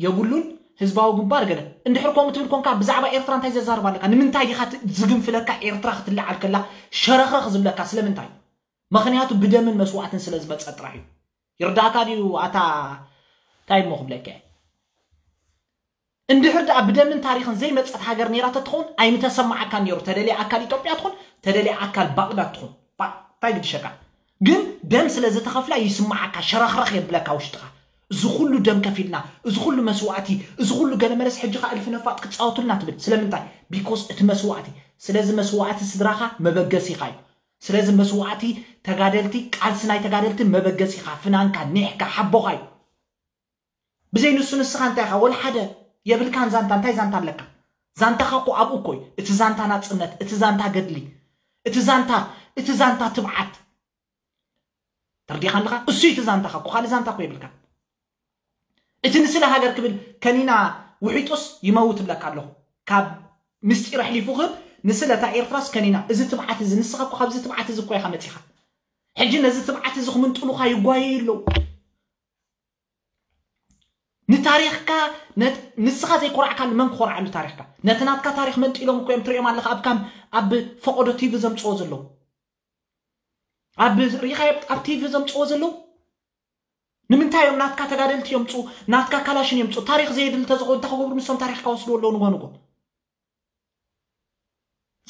የብሉን ህዝባዊ ግንባር ገለ እንድሕር ከምኡ ትብል ኮንካ ብዛዕባ ኤርትራ እንታይ ዘዛርብ ኣለካ? ንምንታይ ዲኻ ዝግንፍለካ ኤርትራ ክትለዓል ከላ ሸረኽረኽ ዝብለካ ስለምንታይ? ምኽንያቱ ብደምን መስዋእትን ስለ ዝመፀ ጥራሕ እዩ። ይርዳእካ ድዩ ኣታ እንታይ እሞ ክብለካ እየ? እንድሕር ደኣ ብደምን ታሪኽን ዘይመፀት ሃገር ነይራ ተትኸውን ኣይምተሰማዓካን ነይሩ። ተደልየ ኣካል ኢትዮጵያ ትኹን ተደልየ ኣካል ባቕዳድ ትኹን እንታይ ግድሸካ? ግን ደም ስለ ዝተኸፍላ ይስማዓካ፣ ሸረኽረኽ የብለካ ውሽጥኻ። እዚ ኩሉ ደም ከፊልና፣ እዚ ኩሉ መስዋእቲ፣ እዚ ኩሉ ገለመለስ ሕጂ ኸዓ እልፊ ነፋጥ ክፃወቱልና ትብል ስለምንታይ? ቢኮዝ እቲ መስዋእቲ ስለዚ መስዋእቲ ስድራኻ መበገሲኻ እዩ። ስለዚ መስዋእቲ ተጋደልቲ ቃልሲ ናይ ተጋደልቲ መበገሲኻ ፍናንካ ኒሕካ ሓቦኻ እዩ። ብዘይ ንሱ ንስኻ እንታይ ኢኻ ወላ ሓደ የብልካን ዛንታ እንታይ ዛንታ ኣለካ? ዛንታኻ እኮ ኣብኡ እኮ እዩ እቲ ዛንታ ናጽነት እቲ ዛንታ ገድሊ እቲ ዛንታ እቲ ዛንታ ትብዓት ተርዲኻ ኣለኻ እሱ እዩ እቲ ዛንታኻ እኮ ካልእ ዛንታ እኮ የብልካን። እቲ ንስለ ሃገር ክብል ከኒና ውሒጡስ ይመውት እብለካ ኣለኹ። ካብ ምስጢር ኣሕሊፉ ክህብ ንስለ እታ ኤርትራስ ከኒና እዚ ትብዓት እዚ ንስኻ እኮ ካብዚ ትብዓት እዚ እኮ ኢኻ መጺኻ። ሕጂ ነዚ ትብዓት እዚ ክምንጥሉኻ ይጓየዩ ኣለዉ። ንታሪኽካ ንስኻ ዘይኮራዕካሉ መን ክኾርዓሉ ታሪኽካ? ነቲ ናትካ ታሪኽ መንጢሎም እኮ እዮም ትሪኦም ኣለኻ ኣብ ካም ኣብ ፈቐዶ ቲቪ ዘምፅዎ ዘለዉ። ኣብ ሪኻዮ ኣብ ቲቪ ዘምፅዎ ዘለዉ ንምንታይ እዮም ናትካ ተጋደልቲ የምፁ ናትካ ካላሽን የምፁ ታሪክ ዘየድል ተዝኾ እንታይ ክገብሩ ንሶም ታሪክካ ወስድዎ ኣለዉ ንጎ ንጎ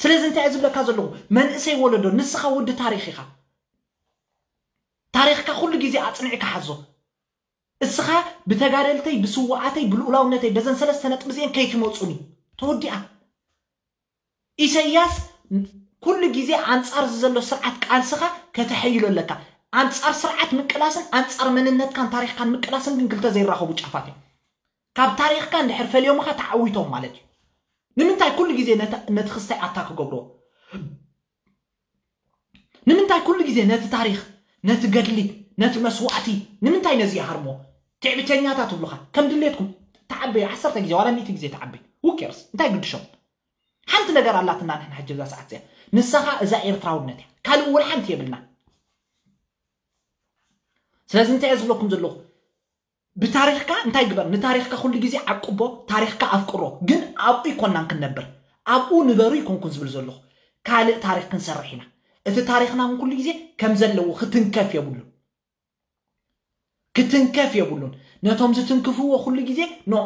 ስለዚ እንታይ ዝብለካ ዘለኹ መንእሰይ ወለዶ ንስኻ ወዲ ታሪክ ኢኻ ታሪክካ ኩሉ ግዜ ኣፅኒዕካ ሓዞ እስኻ ብተጋደልተይ ብስዋኣተይ ብልኡላውነተይ በዘን ሰለስተ ነጥቢ እዚአን ከይትመፁኒ ተወዲኣ ኢሰያስ ኩሉ ግዜ ኣንጻር ዘሎ ስርዓት ቃልስኻ ከተሐይሎ ኣለካ ኣንጻር ስርዓት ምቅላስን ኣንጻር መንነትካን ታሪኽካን ምቅላስን ግን ክልተ ዘይራኸቡ ጫፋት እዮም ካብ ታሪኽካ እንድሕር ፈልዮምኻ ተዓዊቶም ማለት እዩ ንምንታይ ኩሉ ግዜ ነቲ ክስታይ ኣታ ክገብርዎ ንምንታይ ኩሉ ግዜ ነቲ ታሪኽ ነቲ ገድሊ ነቲ መስዋእቲ ንምንታይ ነዚ ይሃርሞ ትዕብተኛታት ትብሉኻ ከም ድሌትኩም ተዓበዩ ዓሰርተ ግዜ ዋላ ሚእቲ ግዜ ተዓበዩ ውኬርስ እንታይ ግድሾም ሓንቲ ነገር ኣላትና ንሕና ሕጂ እዛ ሰዓት እዚኣ ንሳኻ እዛ ኤርትራውነት እያ ካልእ ወላ ሓንቲ የብልና ስለዚ እንታይ እየ ዝብለኩም ዘለኹ ብታሪኽካ እንታይ ግበር ንታሪኽካ ኩሉ ግዜ ዓቅቦ ታሪኽካ ኣፍቅሮ ግን ኣብኡ ይኮናን ክንነብር ኣብኡ ንበሩ ይኮንኩን ዝብል ዘለኹ ካልእ ታሪኽ ክንሰርሕ ኢና እቲ ታሪኽና እውን ኩሉ ግዜ ከም ዘለዎ ክትንከፍ የብሉን ክትንከፍ የብሉን ነቶም ዝትንክፍዎ ኩሉ ግዜ ኖ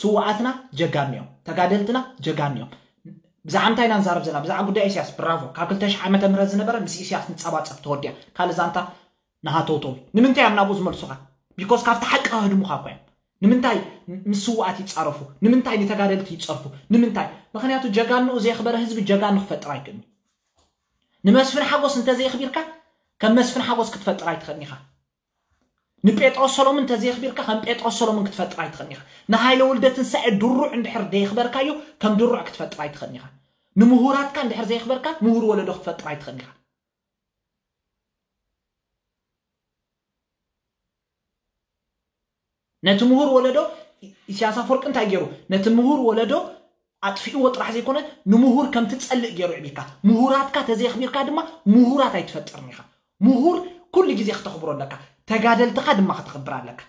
ስዋኣትና ጀጋኑ እዮም ተጋደልትና ጀጋኑ እዮም ብዛዕባ እንታይ ኢና ንዛረብ ዘለና ብዛዕባ ጉዳይ ኢስያስ ብራቮ ካብ ክልተ ሽሕ ዓመተ ምህረት ዝነበረ ምስ ኢስያስ ንጸባጸብ ተወዲኣ ካልእ ዛንታ ንሃተውተው ንምንታይ እዮም ናብኡ ዝመልሱኻ because ካብቲ ሓቂ ከህድሙኻ እኮ እዮም ንምንታይ ምስ ስዋኣት ይጻረፉ ንምንታይ ንተጋደልቲ ይጸርፉ ንምንታይ ምክንያቱ ጀጋንኡ ዘየኽበረ ህዝቢ ጀጋኑ ክፈጥር ኣይክእልን ንመስፍን ሓጎስ እንተዘየኽቢርካ ከም መስፍን ሓጎስ ክትፈጥር ኣይትኽእልን ኢኻ ንጴጥሮስ ሰሎምን እንተዘየኽቢርካ ከም ጴጥሮስ ሰሎምን ክትፈጥር ኣይትኽእልን ኢኻ ንሃይለ ወልደ ትንሳኤ ድሩዕ እንድሕር ደየኽበርካዮ ከም ድሩዕ ክትፈጥር ኣይትኽእልን ኢኻ ንምሁራትካ እንድሕር ዘየኽበርካ ምሁር ወለዶ ክትፈጥር ኣይትኽእልን ኢኻ ነቲ ምሁር ወለዶ ኢሳያስ ኣፈወርቂ እንታይ ገይሩ ነቲ ምሁር ወለዶ ኣጥፊእዎ ጥራሕ ዘይኮነ ንምሁር ከም ትጸልእ ገይሩ ዕቢካ ምሁራትካ ተዘየኽቢርካ ድማ ምሁራት ኣይትፈጥርን ኢኻ ምሁር ኩሉ ግዜ ክተኽብሮ ኣለካ ተጋደልትኻ ድማ ክተኽብር ኣለካ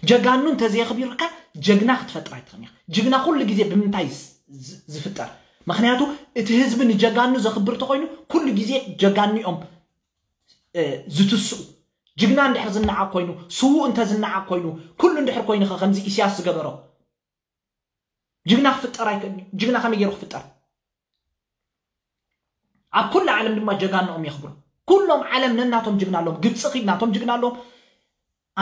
ጀጋኑ እንተዘየኽቢርካ ጀግና ክትፈጥር ኣይትኽእልን ኢኻ ጅግና ኩሉ ግዜ ብምንታይ ዝፍጠር ምክንያቱ እቲ ህዝቢ ንጀጋኑ ዘኽብር ተኮይኑ ኩሉ ግዜ ጀጋኑ እዮም ዝትስኡ ጅግና እንድሕር ዝነዓቕ ኮይኑ ስዉእ እንተ ዝነዓቕ ኮይኑ ኩሉ እንድሕር ኮይኑ ከምዚ ኢስያስ ዝገበሮ ጅግና ክፍጠር ኣይክእልን ጅግና ከመይ ገይሩ ክፍጠር ኣብ ኩሉ ዓለም ድማ ጀጋንኦም የኽብሩ ኩሎም ዓለም ነናቶም ጅግና ኣለዎም ግብፂ ኪድ ናቶም ጅግና ኣለዎም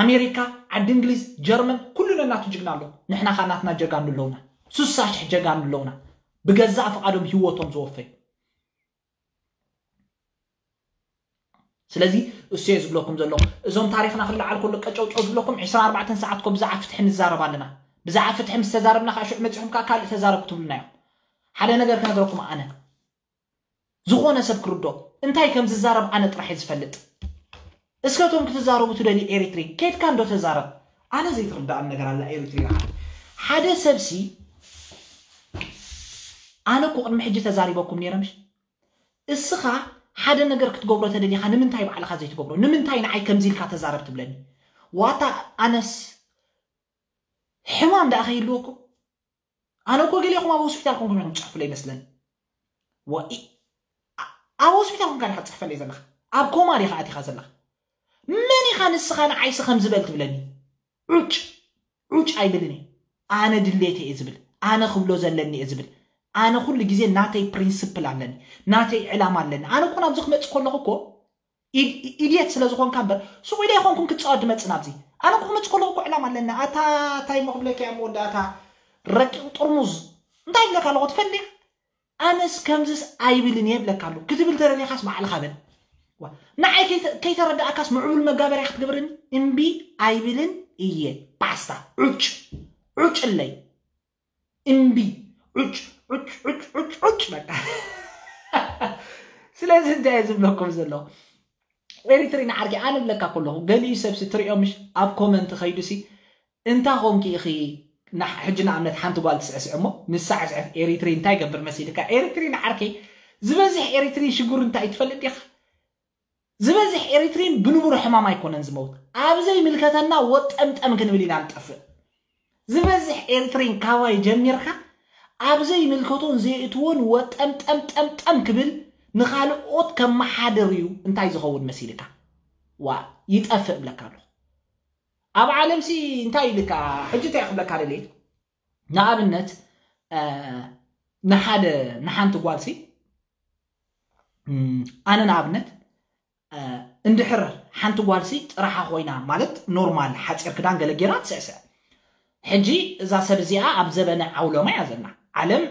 ኣሜሪካ ዓዲ እንግሊዝ ጀርመን ኩሉ ነናቱ ጅግና ኣለዎም ንሕና ካ ናትና ጀጋኑ ኣለውና ሱሳ ሽሕ ጀጋኑ ኣለውና ብገዛእ ፍቓዶም ህይወቶም ዝወፈዩ ስለዚ እሱ እየ ዝብለኩም ዘለኹ እዞም ታሪኽና ክለዓል ከሎ ቀጨውጨው ዝብለኩም ዕስራን ኣርባዕተን ሰዓት ኮ ብዛዕባ ፍትሒ ንዛረብ ኣለና ብዛዕባ ፍትሒ ምስ ተዛረብና ከዓ ሽዑ መፂኹም ከዓ ካልእ ተዛረቡ ትብሉና እዮም ሓደ ነገር ክነግረኩም ኣነ ዝኾነ ሰብ ክርዶ እንታይ ከም ዝዛረብ ኣነ ጥራሕ እየ ዝፈልጥ እስከቶም ክትዛረቡ ትደልዩ ኤሪትሪ ኬድካ እንዶ ተዛረብ ኣነ ዘይትርዳኣን ነገር ኣላ ኤሪትሪ ሓደ ሰብሲ ኣነ እኮ ቅድሚ ሕጂ ተዛሪበኩም ነይረ ምሽ እስኻ ሓደ ነገር ክትገብሮ ተደሊኻ ንምንታይ ባዕልኻ ዘይትገብሮ ንምንታይ ንዓይ ከምዚ ኢልካ ተዛረብ ትብለኒ ዋታ ኣነስ ሕማም ደኣ ከይህልወኩም ኣነ እኮ ገሊኹም ኣብ ሆስፒታል ኮንኩም ኢኹም ትፅሕፉለይ ይመስለኒ ኣብ ሆስፒታል ኮንካ ዲኻ ትፅሕፈለይ ዘለኻ ኣብ ኮማ ዲኻ ኣቲኻ ዘለኻ መን ኢኻ ንስኻ ንዓይሲ ከም ዝበል ትብለኒ ዑጭ ዑጭ ኣይብልን እየ ኣነ ድሌት እየ ዝብል ኣነ ክብሎ ዘለኒ እየ ዝብል ኣነ ኩሉ ግዜ ናተይ ፕሪንስፕል ኣለኒ ናተይ ዕላማ ኣለኒ ኣነ እኮ ናብዚ ክመፅእ ከለኹ እኮ ኢድየት ስለ ዝኾንካ እምበር ሱቕ ኢለ ይኾንኩም ክፃወት ድመፅእ ናብዚ ኣነ እኮ ክመፅእ ከለኹ እኮ ዕላማ ኣለኒ ኣታ እንታይ እሞ ክብለካ እየ መወዳእታ ረቂቕ ጥርሙዝ እንታይ ይብለካ ኣለኹ ትፈልጥ ኣነስ ከምዝስ ኣይብልን እየ ይብለካ ኣለኹ ክትብል ተደሊኻስ ባዕልኻ በል ንዓይ ከይተረዳእካስ ምዕቡል መጋበርያ ክትገብርኒ እምቢ ኣይብልን እየ ባስታ ዑጭ ዑጭለይ እምቢ ዑጭ ዑጭ ዑጭ ዑጭ ዑጭ በቃ ስለዚ እንታይ እየ ዝብለኩም ዘለኹ ኤሪትሪን ዓርኪ ኣነ ብለካ ከለኹ ገሊኡ ሰብሲ ትሪኦ ምሽ ኣብ ኮመንት ኸይዱሲ እንታ ኾንኪ ኢኺ ሕጂ ንኣብነት ሓንቲ ጓል ትስዕስዕ እሞ ንሳ ዕስዕት ኤሪትሪ እንታይ ገብር መሲልካ ኤሪትሪን ዓርከይ ዝበዝሕ ኤሪትሪን ሽግሩ እንታይ ትፈልጥ ዲኻ ዝበዝሕ ኤሪትሪን ብንቡር ሕማም ኣይኮነን ዝመውት ኣብ ዘይምልከተና ወጠምጠም ክንብል ኢና ንጠፍእ ዝበዝሕ ኤሪትሪን ካባይ ጀሚርካ ኣብ ዘይምልከቶን ዘየእትዎን ወጠምጠምጠምጠም ክብል ንኻልኦት ከመሓድር እዩ እንታይ ዝኸውን መሲልካ? ዋ ይጠፍእ እብለካ ኣለኹ። ኣብ ዓለምሲ እንታይ ኢልካ? ሕጂ እንታይ ክብለካ ደልየ? ንኣብነት ንሓደ ንሓንቲ ጓልሲ ኣነ ንኣብነት እንድሕር ሓንቲ ጓልሲ ጥራሓ ኮይና ማለት ኖርማል ሓፂር ክዳን ገለ ጌራ ትስዕስዕ። ሕጂ እዛ ሰብ እዚኣ ኣብ ዘበነ ዓውሎማ እያ ዘላ። ዓለም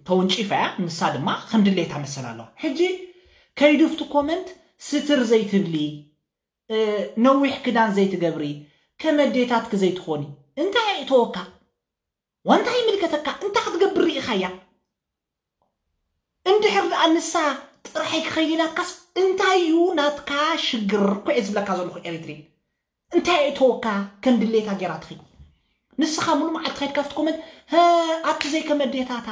ተወንጪፋ እያ፣ ንሳ ድማ ከም ድሌታ መሰል ኣለዋ። ሕጂ ከይዱፍቲ ኮመንት ስትር ዘይትብሊ፣ ነዊሕ ክዳን ዘይትገብሪ፣ ከመዴታትክ ዘይትኾኒ እንታይ ይእተወካ? ዋንታ ይምልከተካ? እንታ ክትገብር ርኢኻያ? እንድሕር ደኣ ንሳ ጥራሐይ ክኸይድ ኢላትካስ እንታይ እዩ ናትካ ሽግር? ኮየ ዝብለካ ዘለኹ ኤሪትሪን እንታይ እተወካ? ከም ድሌታ ጌራ ትኸይድ። ንስኻ ሙሉ መዓልቲ ከይድ ካብቲ ኮመንት ኣቲ ዘይከመዴታታ።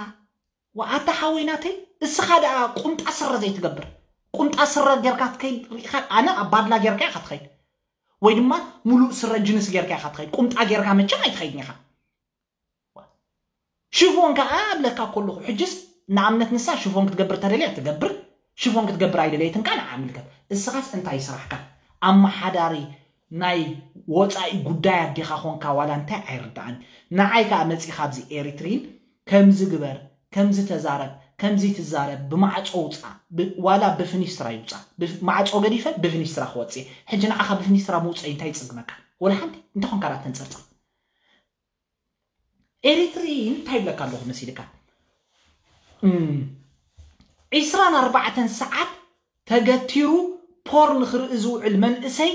ወኣታ ሓወይ ናተይ፣ እስኻ ደኣ ቁምጣ ስረ ዘይትገብር፣ ቁምጣ ስረ ጌርካ ትከይድ ርኢኻ? ኣነ ኣብ ባድላ ጌርካ ኢኻ ትኸይድ፣ ወይ ድማ ሙሉእ ስረ ጅንስ ጌርካ ኢኻ ትኸይድ። ቁምጣ ጌርካ መቸም ኣይትኸይድን ኢኻ። ሽፎን ከኣ እብለካ ከለኹ፣ ሕጅስ ንኣብነት ንሳ ሽፎን ክትገብር ተደልያ ትገብር፣ ሽፎን ክትገብር ኣይደለየትን ከኣ ንዓ ምልከት። እስኻስ እንታይ ስራሕካ? ኣመሓዳሪ ናይ ወጻኢ ጉዳያት ዲኻ ኾንካ ዋላ እንታይ ኣይርድኣን። ንዓይ ከኣ መጺኻ ኣብዚ ኤሪትሪን ከምዚ ግበር፣ ከምዚ ተዛረብ፣ ከምዚ ትዛረብ፣ ብማዕጾ ውጻ፣ ዋላ ብፍኒስትራ ይውጻ። ማዕጾ ገዲፈ ብፍኒስትራ ክወጽእ። ሕጂ ንዓኻ ብፍኒስትራ ምውጸይ እንታይ ይጽግመካ? ወላ ሓንቲ እንተኾንካ ዳ ተንጸርጽር። ኤሪትሪ እንታይ ይብለካ ኣለኹ መሲልካ? ዒስራን ኣርባዕተን ሰዓት ተገቲሩ ፖርን ክርኢ ዝውዕል መንእሰይ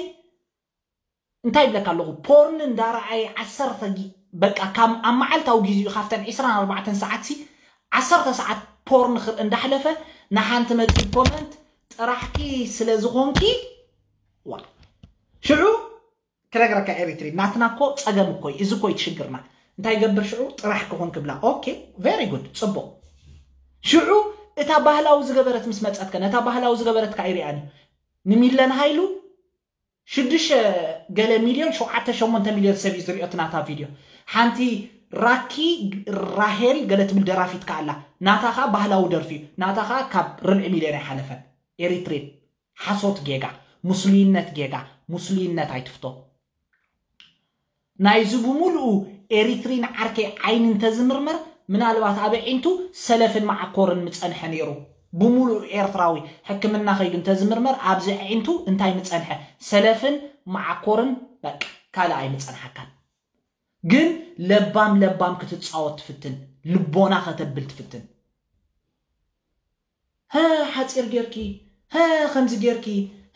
እንታይ ይብለካ ኣለኹ? ፖርን እንዳረኣየ ዓሰርተ በቃ ካብ ኣብ መዓልታዊ ግዜኡ ካብተን ዒስራን ኣርባዕተን ሰዓት ሲ ዓሰርተ ሰዓት ፖርን ክርኢ እንዳሕለፈ ንሓንቲ መፂእ ኮመንት ጥራሕኪ ስለ ዝኾንኪ ዋ ሽዑ ክነግረካ ኤሪትሪ ናትና እኮ ጸገም እኮ እዩ። እዚ እኮ እዩ ሽግርና። እንታይ ይገብር ሽዑ ጥራሕ ክኾን ክብላ። ኦኬ very good ጽቡቕ። ሽዑ እታ ባህላዊ ዝገበረት ምስ መጸትከ ነታ ባህላዊ ዝገበረትካ ኣይሪኣን እዩ። ንሚለን ሃይሉ ሽዱሽተ ገለ ሚልዮን ሸውዓተ ሸሞንተ ሚልዮን ሰብ እዩ ዝሪኦ እቲ ናታ ቪድዮ። ሓንቲ ራኪ ራሄል ገለ ትብል ደራፊት ከኣ ኣላ። ናታ ከኣ ባህላዊ ደርፊ እዩ። ናታ ከኣ ካብ ርብዒ ሚልዮን ኣይሓለፈን። ኤሪትሪን ሓሶት ጌጋ፣ ሙስሊነት ጌጋ፣ ሙስሊነት ኣይትፍቶ። ናይዚ ብምሉኡ ኤሪትሪን ዓርከይ ዓይኒ እንተዝምርመር ምናልባት ኣብ ኣዒንቱ ሰለፍን መዓኮርን ምጸንሐ ነይሩ። ብምሉኡ ኤርትራዊ ሕክምና ከይዱ እንተዝምርመር ኣብዚ ኣዒንቱ እንታይ ምጸንሐ? ሰለፍን መዓኮርን በቃ ካልእ ኣይምጸንሓካን። ግን ለባም ለባም ክትጻወት ትፍትን፣ ልቦና ከተብል ትፍትን። ሀ ሓጺር ጌርኪ፣ ሀ ከምዚ ጌርኪ፣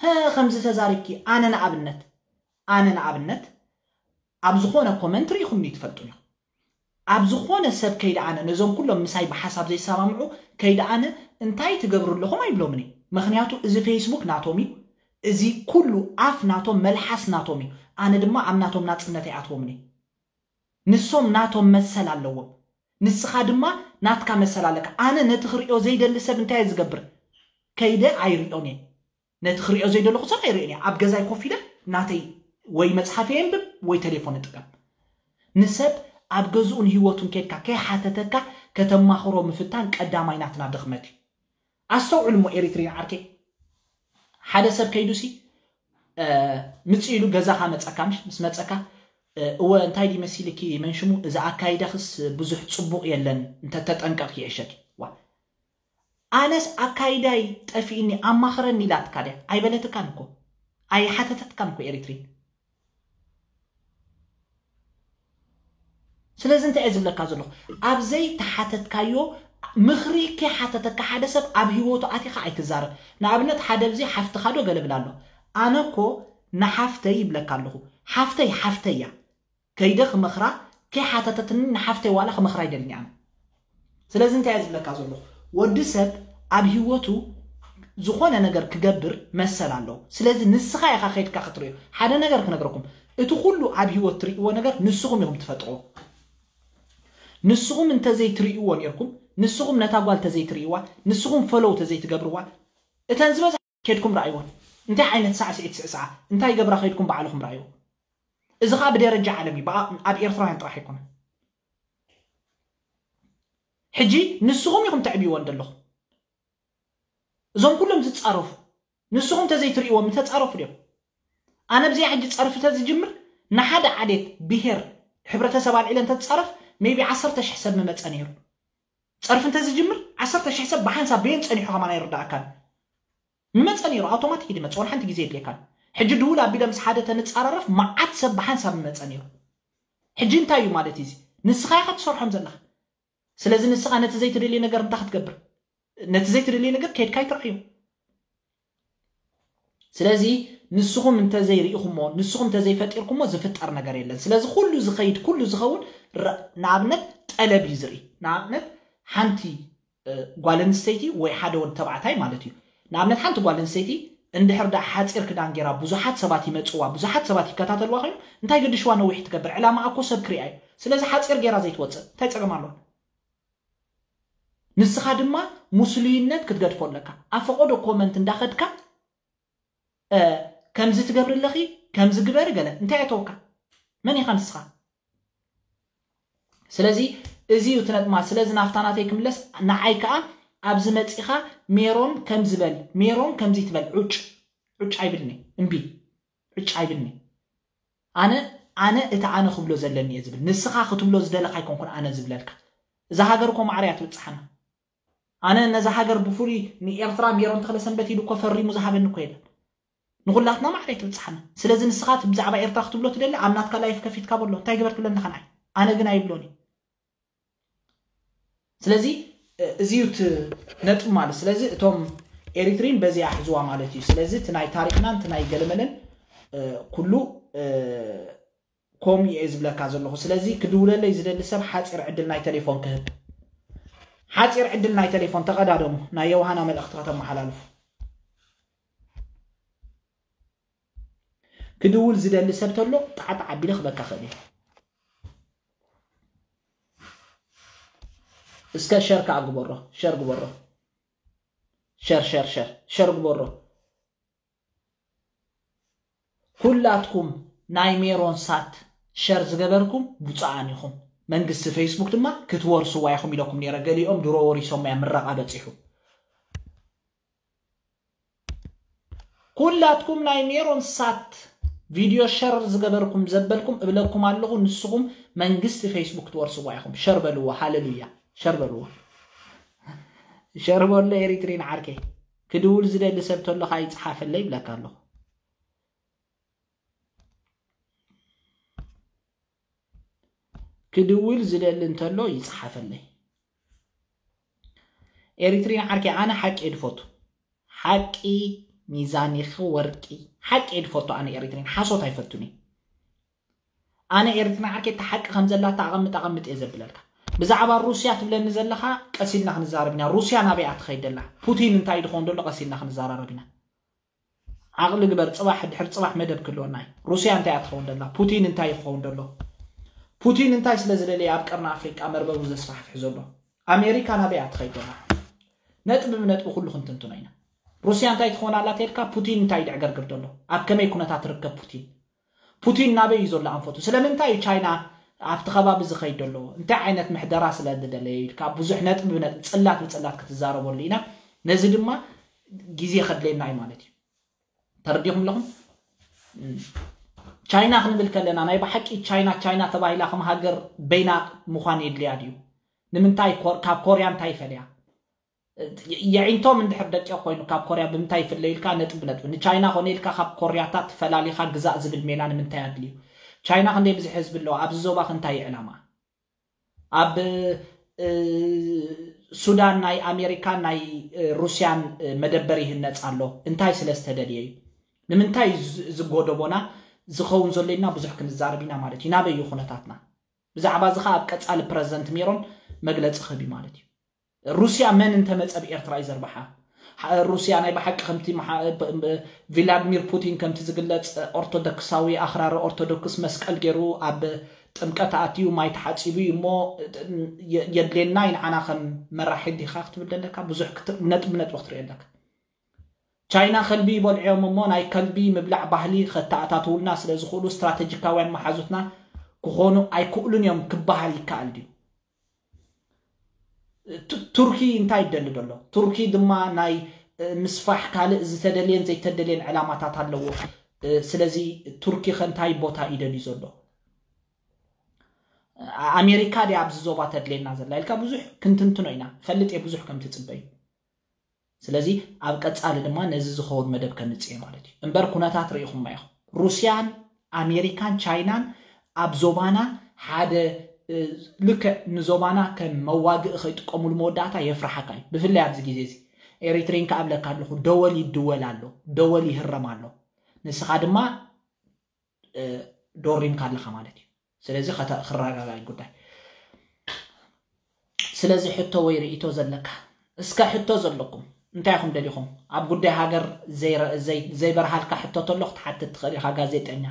ሀ ከምዚ ተዛሪብኪ። ኣነ ንኣብነት ኣነ ንኣብነት ኣብ ዝኾነ ኮመንት ርኢኹምኒ ትፈልጡን ኢኹም። ኣብ ዝኾነ ሰብ ከይደ ኣነ ነዞም ኩሎም ምሳይ ብሓሳብ ዘይሰማምዑ ከይደ ኣነ እንታይ ትገብሩ ኣለኹም ኣይብሎምን እየ። ምኽንያቱ እዚ ፌስቡክ ናቶም እዩ። እዚ ኩሉ ኣፍ ናቶም መልሓስ ናቶም እዩ። ኣነ ድማ ኣብ ናቶም ናጽነት ኣይኣትዎምን እየ። ንሶም ናቶም መሰል ኣለዎም። ንስኻ ድማ ናትካ መሰል ኣለካ። ኣነ ነቲ ክርእዮ ዘይደሊ ሰብ እንታይ እየ ዝገብር? ከይደ ኣይርእዮን እየ። ነቲ ክርእዮ ዘይደለኹ ሰብ ኣይርእዮን እየ። ኣብ ገዛይ ኮፍ ኢለ ናተይ ወይ መጽሓፍ የንብብ ወይ ቴሌፎን እጥቀም። ንሰብ ኣብ ገዝኡን ህይወቱን ከይድካ ከይሓተተካ ከተማኽሮ ምፍታን ቀዳማይ ናትና ድኽመት እዩ። ኣስተውዕሉ እሞ ኤሪትሪን ዓርከይ፣ ሓደ ሰብ ከይዱሲ ምጽእ ኢሉ ገዛኻ መጸካ፣ ምሽ ምስ መጸካ እወ እንታይ ድዩ መሲልኪ መንሽሙ፣ እዚ ኣካይዳኽስ ብዙሕ ጽቡቕ የለን፣ እንተተጠንቀቕኪ ይሕሸኪ። ዋ ኣነስ ኣካይዳይ ጠፊእኒ ኣማኽረኒ ኢላትካ ድያ? ኣይበለትካን እኮ ኣይሓተተትካን እኮ ኤሪትሪን። ስለዚ እንታይ እየ ዝብለካ ዘለኹ? ኣብ ዘይተሓተትካዮ ምኽሪ ከይሓተተካ ሓደ ሰብ ኣብ ህይወቱ ኣቲኻ ኣይትዛረብ። ንኣብነት ሓደ ብዚ ሓፍትኻ ዶ ገለ ብላ ኣሎ። ኣነ እኮ ንሓፍተይ ይብለካ ኣለኹ። ሓፍተይ ሓፍተይ እያ። ከይደ ክመኽራ ከይሓተተትኒ ንሓፍተይ ዋላ ክመኽራ ይደልኒ ኣነ። ስለዚ እንታይ እየ ዝብለካ ዘለኹ? ወዲ ሰብ ኣብ ህይወቱ ዝኾነ ነገር ክገብር መሰል ኣለዎ። ስለዚ ንስኻ ኢኻ ከይድካ ክትርእዮ። ሓደ ነገር ክነግረኩም፣ እቲ ኩሉ ኣብ ህይወት ትርእይዎ ነገር ንስኹም ኢኹም ትፈጥርዎ። ንስኹም እንተዘይትርእይዎ ነይርኩም፣ ንስኹም ነታ ጓል ተዘይትርእይዋ፣ ንስኹም ፈለው ተዘይትገብርዋ፣ እተን ዝበዝሓ ከይድኩም ረኣይወን። እንታይ ዓይነት ሳዕስዒት ስዕስዓ፣ እንታይ ገብራ ከይድኩም ባዕልኹም ረኣይዎ። እዚ ኸዓ ብደረጃ ዓለም እዩ፣ ብኣ- ኣብ ኤርትራውያን ጥራሕ ኣይኮነን። ሕጂ ንስኹም ኢኹም ተዕብይወን ዘለኹም። እዞም ኩሎም ዝጻረፉ ንስኹም ተዘይትርእይዎም ተጻረፉ ድዮም? ኣነ ብዚኣ ሕጂ ጸርፊ ተዝጅምር ንሓደ ዓሌት ብሄር ሕብረተሰብ ኣልዒለ እንተትጻረፍ ሜቢ ዓሰርተ ሽሕ ሰብ ምመጸ ነይሩ። ጸርፊ እንተዝጅምር ዓሰርተ ሽሕ ሰብ ብሓንሳብ በየን ጸኒሑ ከማን ኣይርዳእካን። ምመጸ ነይሩ፣ ኣውቶማቲክ ድመጽ፣ ወላ ሓንቲ ግዜ የድልየካን። ሕጂ ድውል ኣቢለ ምስ ሓደ ተንጻራረፍ መዓት ሰብ ብሓንሳብ ምመጸ ነይሩ። ሕጂ እንታይ እዩ ማለት እዩ እዚ? ንስኻ ኢኻ ትሰርሖም ዘለኻ። ስለዚ ንስኻ ነቲ ዘይትደልዮ ነገር እንታይ ክትገብር? ነቲ ዘይትደልዮ ነገር ከይድካ ይትረኣዩ። ስለዚ ንስኹም እንተዘይርኢኹሞ፣ ንስኹም እንተዘይፈጢርኩሞ ዝፍጠር ነገር የለን። ስለዚ ኩሉ ዝኸይድ፣ ኩሉ ዝኸውን ረ-፣ ንኣብነት ጠለብ እዩ ዝርኢ። ንኣብነት ሓንቲ፣ እ፣ ጓል ኣንስተይቲ ወይ ሓደ ወዲ ተባዕታይ ማለት እዩ። ንኣብነት ሓንቲ ጓል ኣንስተይቲ እንድሕር ደኣ ሓጺር ክዳን ጌራ ብዙሓት ሰባት ይመጽዋ፣ ብዙሓት ሰባት ይከታተልዋ ኮይኑ እንታይ ገድሽዋ ነዊሕ ትገብር? ዕላማ እኮ ሰብ ክሪኣ እዩ። ስለዚ ሓጺር ጌራ ዘይትወጽእ እንታይ ጸገም ኣለዋ? ንስኻ ድማ ሙስሉይነት ክትገድፎ ኣለካ። ኣብ ፈቐዶ ኮመንት እንዳኸድካ፣ እ፣ ከምዚ ትገብሪ ኣለኺ፣ ከምዚ ግበሪ ገለ እንታይ ኣተወካ? መን ኢኻ ንስኻ? ስለዚ እዚ እዩ እቲ ነጥማ። ስለዚ ናፍታ ናተይ ክምለስ፣ ንዓይ ከኣ ኣብዚ መጺኻ ሜሮን ከምዚ በል፣ ሜሮን ከምዚ ትበል፣ ዑጭ፣ ዑጭ ኣይብልኒ፣ እምቢ፣ ዑጭ ኣይብልኒ። ኣነ፣ ኣነ እቲ ኣነ ክብሎ ዘለኒ እየ ዝብል። ንስኻ ክትብሎ ዝደለኻ ኣይኮንኩን ኣነ ዝብለልካ። እዛ ሃገር እኮ ማዕረ እያ ትብጽሓና። ኣነ ነዛ ሃገር ብፍሉይ ንኤርትራ ሜሮን ተኽለ ሰንበት ኢሉ እኮ ፈሪሙ ዝሃበኒ እኮ የለን። ንኹላትና ማዕረ እያ ትብጽሓና። ስለዚ ንስኻ እቲ ብዛዕባ ኤርትራ ክትብሎ ትደሊ ኣብ ናትካ ላይፍ ከፊትካ በሎ። እንታይ ግበር ትብለኒ ከ ንዓይ? ኣነ ግን ኣይብሎን እየ። ስለዚ፣ እ፣ እዚ እዩ እቲ ነጥብ ማለት። ስለዚ እቶም ኤሪትሪን በዚኣ ሕዝዋ ማለት እዩ። ስለዚ እቲ ናይ ታሪኽናን እቲ ናይ ገለመለን፣ እ፣ ኩሉ፣ እ፣ ከምኡ እየ ዝብለካ ዘለኹ። ስለዚ ክድውለለይ ዝደሊ ሰብ ሓጺር ዕድል ናይ ቴሌፎን ክህብ። ሓጺር ዕድል ናይ ቴሌፎን ተቐዳደሙ። ናይ ዮሃና መልእኽቲ ከተመሓላልፉ። ክድውል ዝደሊ ሰብ ተሎ ጣዕጣዕ ኣቢለ ክበካ ክእል እየ። እስከ ሸር ከኣ ግበሮ፣ ሸር ግበሮ። ሸር፣ ሸር፣ ሸር፣ ሸር ግበሮ። ኩላትኩም ናይ ሜሮን ሳት ሸር ዝገበርኩም ብፁዓን ኢኹም። መንግስቲ ፌስቡክ ድማ ክትወርስዋ ኢኹም ኢለኩም ነይረ። ገሊኦም ድሮ ወሪሶም እያ ምረቓ በጺሑ። ኩላትኩም ናይ ሜሮን ሳት ቪድዮ ሸር ዝገበርኩም ዘበልኩም እብለኩም ኣለኹ፣ ንስኹም መንግስቲ ፌስቡክ ትወርስዋ ኢኹም። ሸር በልዎ፣ ሃሌሉያ። ሸር በልዎ። ሸር በሎ ኤሪትሪን ዓርከይ። ክድውል ዝደሊ ሰብ ተሎ ከኣ ይጽሓፈለይ ይብለካ ኣለኹ። ክድውል ዝደሊ እንተሎ ይጽሓፈለይ። ኤሪትሪን ዓርከይ፣ ኣነ ሓቂ እየ ድፈቱ። ሓቂ ሚዛን ኢኺ ወርቂ። ሓቂ እየ ድፈቱ ኣነ ኤሪትሪን፣ ሓሶት ኣይፈቱን እየ። ኣነ ኤሪትሪን ዓርከይ፣ እታ ሓቂ ከም ዘላታ ኣቐምጥ፣ ኣቐምጥ እየ ዘብለልካ። ብዛዕባ ሩስያ ትብለኒ ዘለኻ፣ ቀስ ኢልና ክንዛረብ ኢና። ሩስያ ናበይ እያ ትኸይድ ዘላ? ፑቲን እንታይ ድኸውን ዘሎ? ቀስ ኢልና ክንዘራረብ ኢና። ዓቕሊ ግበር፣ ጽባሕ ድሕሪ ጽባሕ መደብ ክህልወና እዩ። ሩስያ እንታይ እያ ትኸውን ዘላ? ፑቲን እንታይ እዩ ክኸውን ዘሎ? ፑቲን እንታይ ስለ ዝደለየ ኣብ ቀርኒ ኣፍሪቃ መርበቡ ዘስፋሕፍሕ ዘሎ? ኣሜሪካ ናበይ እያ ትኸይድ ዘላ? ነጥቢ ብነጥቢ ኩሉ ክንትንትኖ ኢና። ሩስያ እንታይ ትኸውን ኣላ ተልካ? ፑቲን እንታይ ድዕገርግር ዘሎ? ኣብ ከመይ ኩነታት ትርከብ ፑቲን? ፑቲን ናበይ እዩ ዘሎ ኣንፈቱ? ስለምንታይ እዩ ቻይና ኣብቲ ከባቢ ዝኸይድ ዘሎ? እንታይ ዓይነት ምሕደራ ስለ ዝደለየ ኢልካ ብዙሕ ነጥቢ ብነጥቢ፣ ጽላት ብጽላት ክትዛረበሉ ኢና። ነዚ ድማ ግዜ ከድልየና እዩ ማለት እዩ። ተረዲኹም ኣለኹም? እም። ቻይና ክንብል ከለና ናይ ብሓቂ ቻይና፣ ቻይና ተባሂላ ከም ሃገር በይና ምዃን የድልያ ድዩ? ንምንታይ ኮር-፣ ካብ ኮርያ እንታይ ይፈልያ? የ-፣ የዒንቶም እንድሕር ደቂቕ ኮይኑ ካብ ኮርያ ብምንታይ ይፍለ ኢልካ ነጥቢ ብነጥቢ። ንቻይና ኮነ ኢልካ ካብ ኮርያታት ፈላሊኻ ግዛእ ዝብል ሜላ ንምንታይ ኣድልዩ? ቻይና ክንደይ ብዝሒ ህዝቢ ኣለዋ? ኣብዚ ዞባኸ እንታይ እዩ ዕላማ? ኣብ፣ እ፣ ሱዳን ናይ ኣሜሪካን ናይ፣ እ፣ ሩስያን፣ እ፣ መደበር ይህነጽ ኣሎ። እንታይ ስለ ዝተደልየ እዩ? ንምንታይ ዝ-፣ ዝጎደቦና ዝኸውን ዘሎ ኢልና ብዙሕ ክንዛረብ ኢና ማለት እዩ። ናበይ እዩ ኩነታትና? ብዛዕባ እዚ ኸኣ ኣብ ቀጻሊ ፕረዚደንት ሜሮን መግለጺ ክህብ እዩ ማለት እዩ። ሩስያ መን እንተመጸ ብኤርትራ እዩ ዘርብሓ? ሓ-፣ ሩስያ ናይ ብሓቂ ከምቲ መሓ-፣ ብ-፣ ብ-፣ ቪላድሚር ፑቲን ከምቲ ዝግለጽ ኦርቶዶክሳዊ ኣኽራሪ ኦርቶዶክስ መስቀል ገይሩ ኣብ ጥምቀት ኣትዩ ማይ ተሓጺቡ እዩ እሞ የ-፣ የድልየና እዩ ንዓና ከም መራሒ ዲኻ ክትብል ደለካ? ብዙሕ ክት-፣ ነጥቢ ነጥቢ ክትሪኦ ኣለካ። ቻይና ከልቢ ይበልዑ እዮም እሞ ናይ ከልቢ ምብላዕ ባህሊ ከተኣታትውልና ስለ ዝኽእሉ ስትራተጂካውያን መሓዙትና ክኾኑ ኣይክእሉን እዮም ክበሃል ይከኣል ድዩ? ቱ-፣ ቱርኪ እንታይ ይደሊ ዘሎ? ቱርኪ ድማ ናይ ምስፋሕ ካልእ ዝተደልየን ዘይተደልየን ዕላማታት ኣለዎ። ስለዚ ቱርኪ ከ እንታይ ቦታ ይደልዩ ዘሎ? ኣሜሪካ ድያ ኣብዚ ዞባ ተድልየና ዘላ ኢልካ ብዙሕ ክንትንትኖ ኢና። ፈልጥ እየ ብዙሕ ከም ትጽበዩ። ስለዚ ኣብ ቀጻሊ ድማ ነዚ ዝኸውን መደብ ከምጽእ እየ ማለት እዩ። እምበር ኩነታት ርኢኹማ ኢኹም። ሩስያን ኣሜሪካን ቻይናን ኣብ ዞባና ሓደ ልክዕ ንዞባና ከም መዋግእ ከይጥቀሙሉ መወዳእታ የፍርሓካ እዩ። ብፍላይ ኣብዚ ግዜ እዚ ኤሪትሪን ክኣብለካ ኣለኹ፣ ደወል ይድወል ኣሎ፣ ደወል ይህረም ኣሎ። ንስኻ ድማ ዶሪምካ ኣለኻ ማለት እዩ። ስለዚ ክረጋጋይ ጉዳይ። ስለዚ ሕቶ ወይ ርእቶ ዘለካ እስከ ሕቶ ዘለኩም እንታይ ኢኹም ደሊኹም? ኣብ ጉዳይ ሃገር ዘይበርሃልካ ሕቶ ተሎ ክትሓትት ትኽእል ኢኻ ጋዜጠኛ።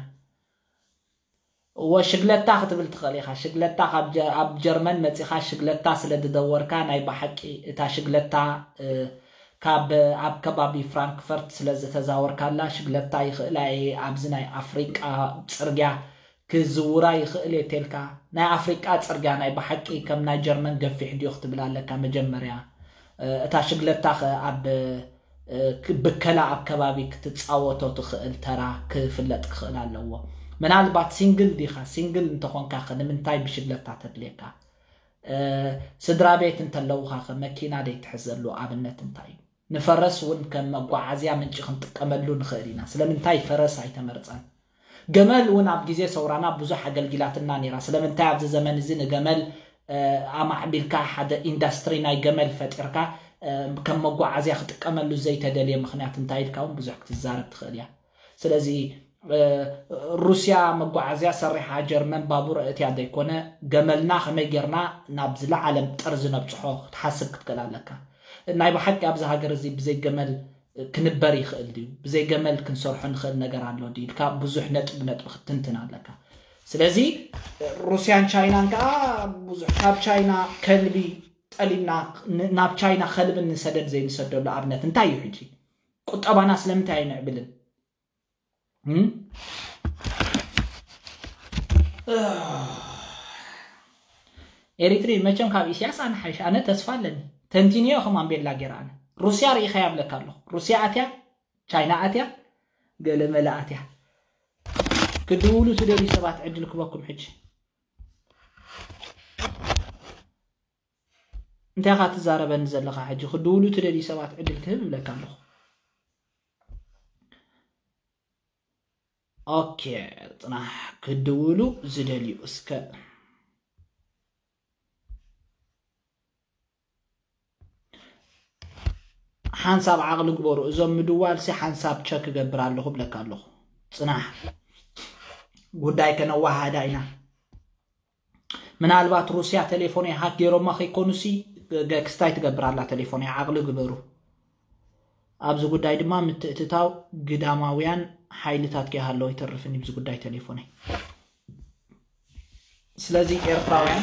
እወ ሽግለታ ክትብል ትኽእል ኢኻ። ሽግለታ ኣብ ጀርመን መፂኻ ሽግለታ ስለ ዝደወርካ ናይ ብሓቂ እታ ሽግለታ ካብ ኣብ ከባቢ ፍራንክፈርት ስለ ዝተዛወርካላ ሽግለታ ይኽእላ እየ ኣብዚ ናይ ኣፍሪቃ ፅርግያ ክዝውራ ይኽእል እየ ተልካ ናይ ኣፍሪቃ ፅርግያ ናይ ብሓቂ ከም ናይ ጀርመን ገፊሕ ድዮ ክትብል ኣለካ መጀመርያ እታ ሽግለታ ኣብ ብከላ ኣብ ከባቢ ክትፃወቶ ትኽእል ተራ ክፍለጥ ክኽእል ኣለዎ። ምናልባት ሲንግል ዲኻ? ሲንግል እንተኾንካ ኸ ንምንታይ ብሽግለታ ተድልየካ? ስድራ ቤት እንተለውኻ ኸ መኪና ደይትሕዘሉ ኣብነት እንታይ እዩ? ንፈረስ እውን ከም መጓዓዝያ ምንጪ ክንጥቀመሉ ንኽእል ኢና። ስለምንታይ ፈረስ ኣይተመርፀን? ገመል እውን ኣብ ግዜ ሰውራና ብዙሕ ኣገልጊላትና ነይራ። ስለምንታይ ኣብዚ ዘመን እዚ ንገመል ኣማዕቢልካ ሓደ ኢንዳስትሪ ናይ ገመል ፈጢርካ ከም መጓዓዝያ ክጥቀመሉ ዘይተደልየ ምኽንያት እንታይ ኢልካ እውን ብዙሕ ክትዛረብ ትኽእል እያ። ስለዚ ሩስያ መጓዓዝያ ሰሪሓ ጀርመን ባቡር እትያ ዘይኮነ ገመልና ከመይ ጌርና ናብ ዝለዓለ ጠርዚ ነብፅሖ ክትሓስብ ክትክእል ኣለካ። ናይ ብሓቂ ኣብዚ ሃገር እዚ ብዘይ ገመል ክንበር ይኽእል ድዩ? ብዘይ ገመል ክንሰርሖ ንኽእል ነገር ኣሎ ድዩ ኢልካ ብዙሕ ነጥቢ ነጥቢ ክትትንትን ኣለካ። ስለዚ ሩስያን ቻይናን ከዓ ብዙሕ ካብ ቻይና ከልቢ ጠሊብና ናብ ቻይና ከልብን ንሰደድ ዘይንሰደሉ ኣብነት እንታይ እዩ? ሕጂ ቁጠባና ስለምንታይ ኣይንዕብልን? ኤሪትሪ መቸም ካብ ኢስያስ ኣነ ሓይሽ ኣነ ተስፋ ኣለኒ። ተንቲንዮ ከም ኣምቤላ ገይራ ኣነ ሩስያ ርኢኻ ያብለካ ኣለኹ። ሩስያ ኣትያ፣ ቻይና ኣትያ፣ ገለ መለ ኣትያ። ክድውሉ ትደልዩ ሰባት ዕድል ክበኩም ሕጂ። እንታይ ኢኻ ትዛረበኒ ዘለኻ? ሕጂ ክድውሉ ትደልዩ ሰባት ዕድል ክህብ እብለካ ኣለኹ። ኦኬ፣ ጽናሕ ክድውሉ ዝደልዩ እስከ ሓንሳብ ዓቕሊ ግበሩ። እዞም ምድዋልሲ ሓንሳብ ቸክ እገብር ኣለኹ እብለካ ኣለኹ። ጽናሕ ጉዳይ ከነዋሃዳ ኢና። ምናልባት ሩስያ ቴሌፎነይ ሃክ ገይሮማ ከይኮኑሲ ገ- ክስታይ ትገብር ኣላ ቴሌፎነይ። ዓቕሊ ግበሩ። ኣብዚ ጉዳይ ድማ ምትእትታው ግዳማውያን ሓይልታት ከይሃለወ ኣይተርፍን እዩ ኣብዚ ጉዳይ ቴሌፎነይ። ስለዚ ኤርትራውያን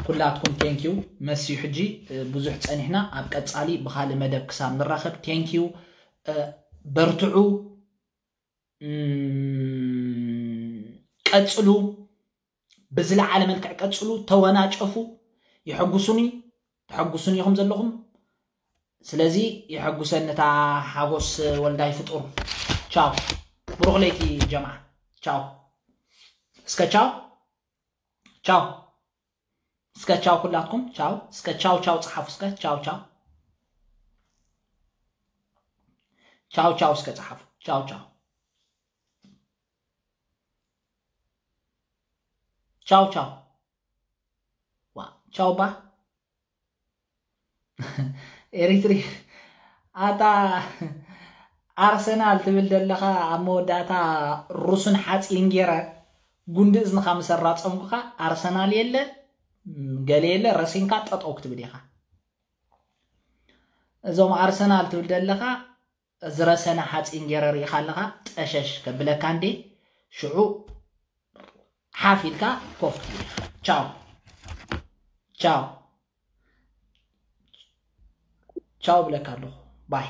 ኩላትኩም ቴንኪዩ መስዩ። ሕጂ ብዙሕ ፀኒሕና ኣብ ቀፃሊ ብካልእ መደብ ክሳብ ንራኸብ ቴንኪዩ። በርትዑ። ቀፅሉ፣ ብዝለዓለ መልክዕ ቀፅሉ። ተወናጨፉ። የሐጉሱኒ፣ ተሐጉሱኒ ኢኹም ዘለኹም። ስለዚ የሐጉሰኒ እታ ሓጎስ ወልዳይ ፍጡር። ቻው፣ ብሩኽ ለይቲ ጀምዓ። ቻው፣ እስከ ቻው ቻው። እስከ ቻው ኩላትኩም ቻው። እስከ ቻው ቻው ጸሓፉ። እስከ ቻው ቻው ቻው ቻው እስከ ጸሓፉ። ቻው ቻው ቻው ቻው። ዋ ቻው ባ ኤሪትሪ ኣታ ኣርሰናል ትብል ዘለኻ ኣብ መወዳእታ ሩስን ሓፂን ገይረ ጉንዲ እዝንኻ ምስ ኣራፀምኩኻ ኣርሰናል የለ ገለ የለ ረሲንካ ጠጠው ክትብል ኢኻ። እዞም ኣርሰናል ትብል ዘለኻ ዝረሰነ ሓፂን ገይረ ርኢኻ ኣለኻ ጠሸሽ ከብለካ እንዴ ሽዑ ሓፍ ኢልካ ኮፍ ትብል ኢኻ። ቻው ቻው ቻው ብለካ ኣለኹ ባይ።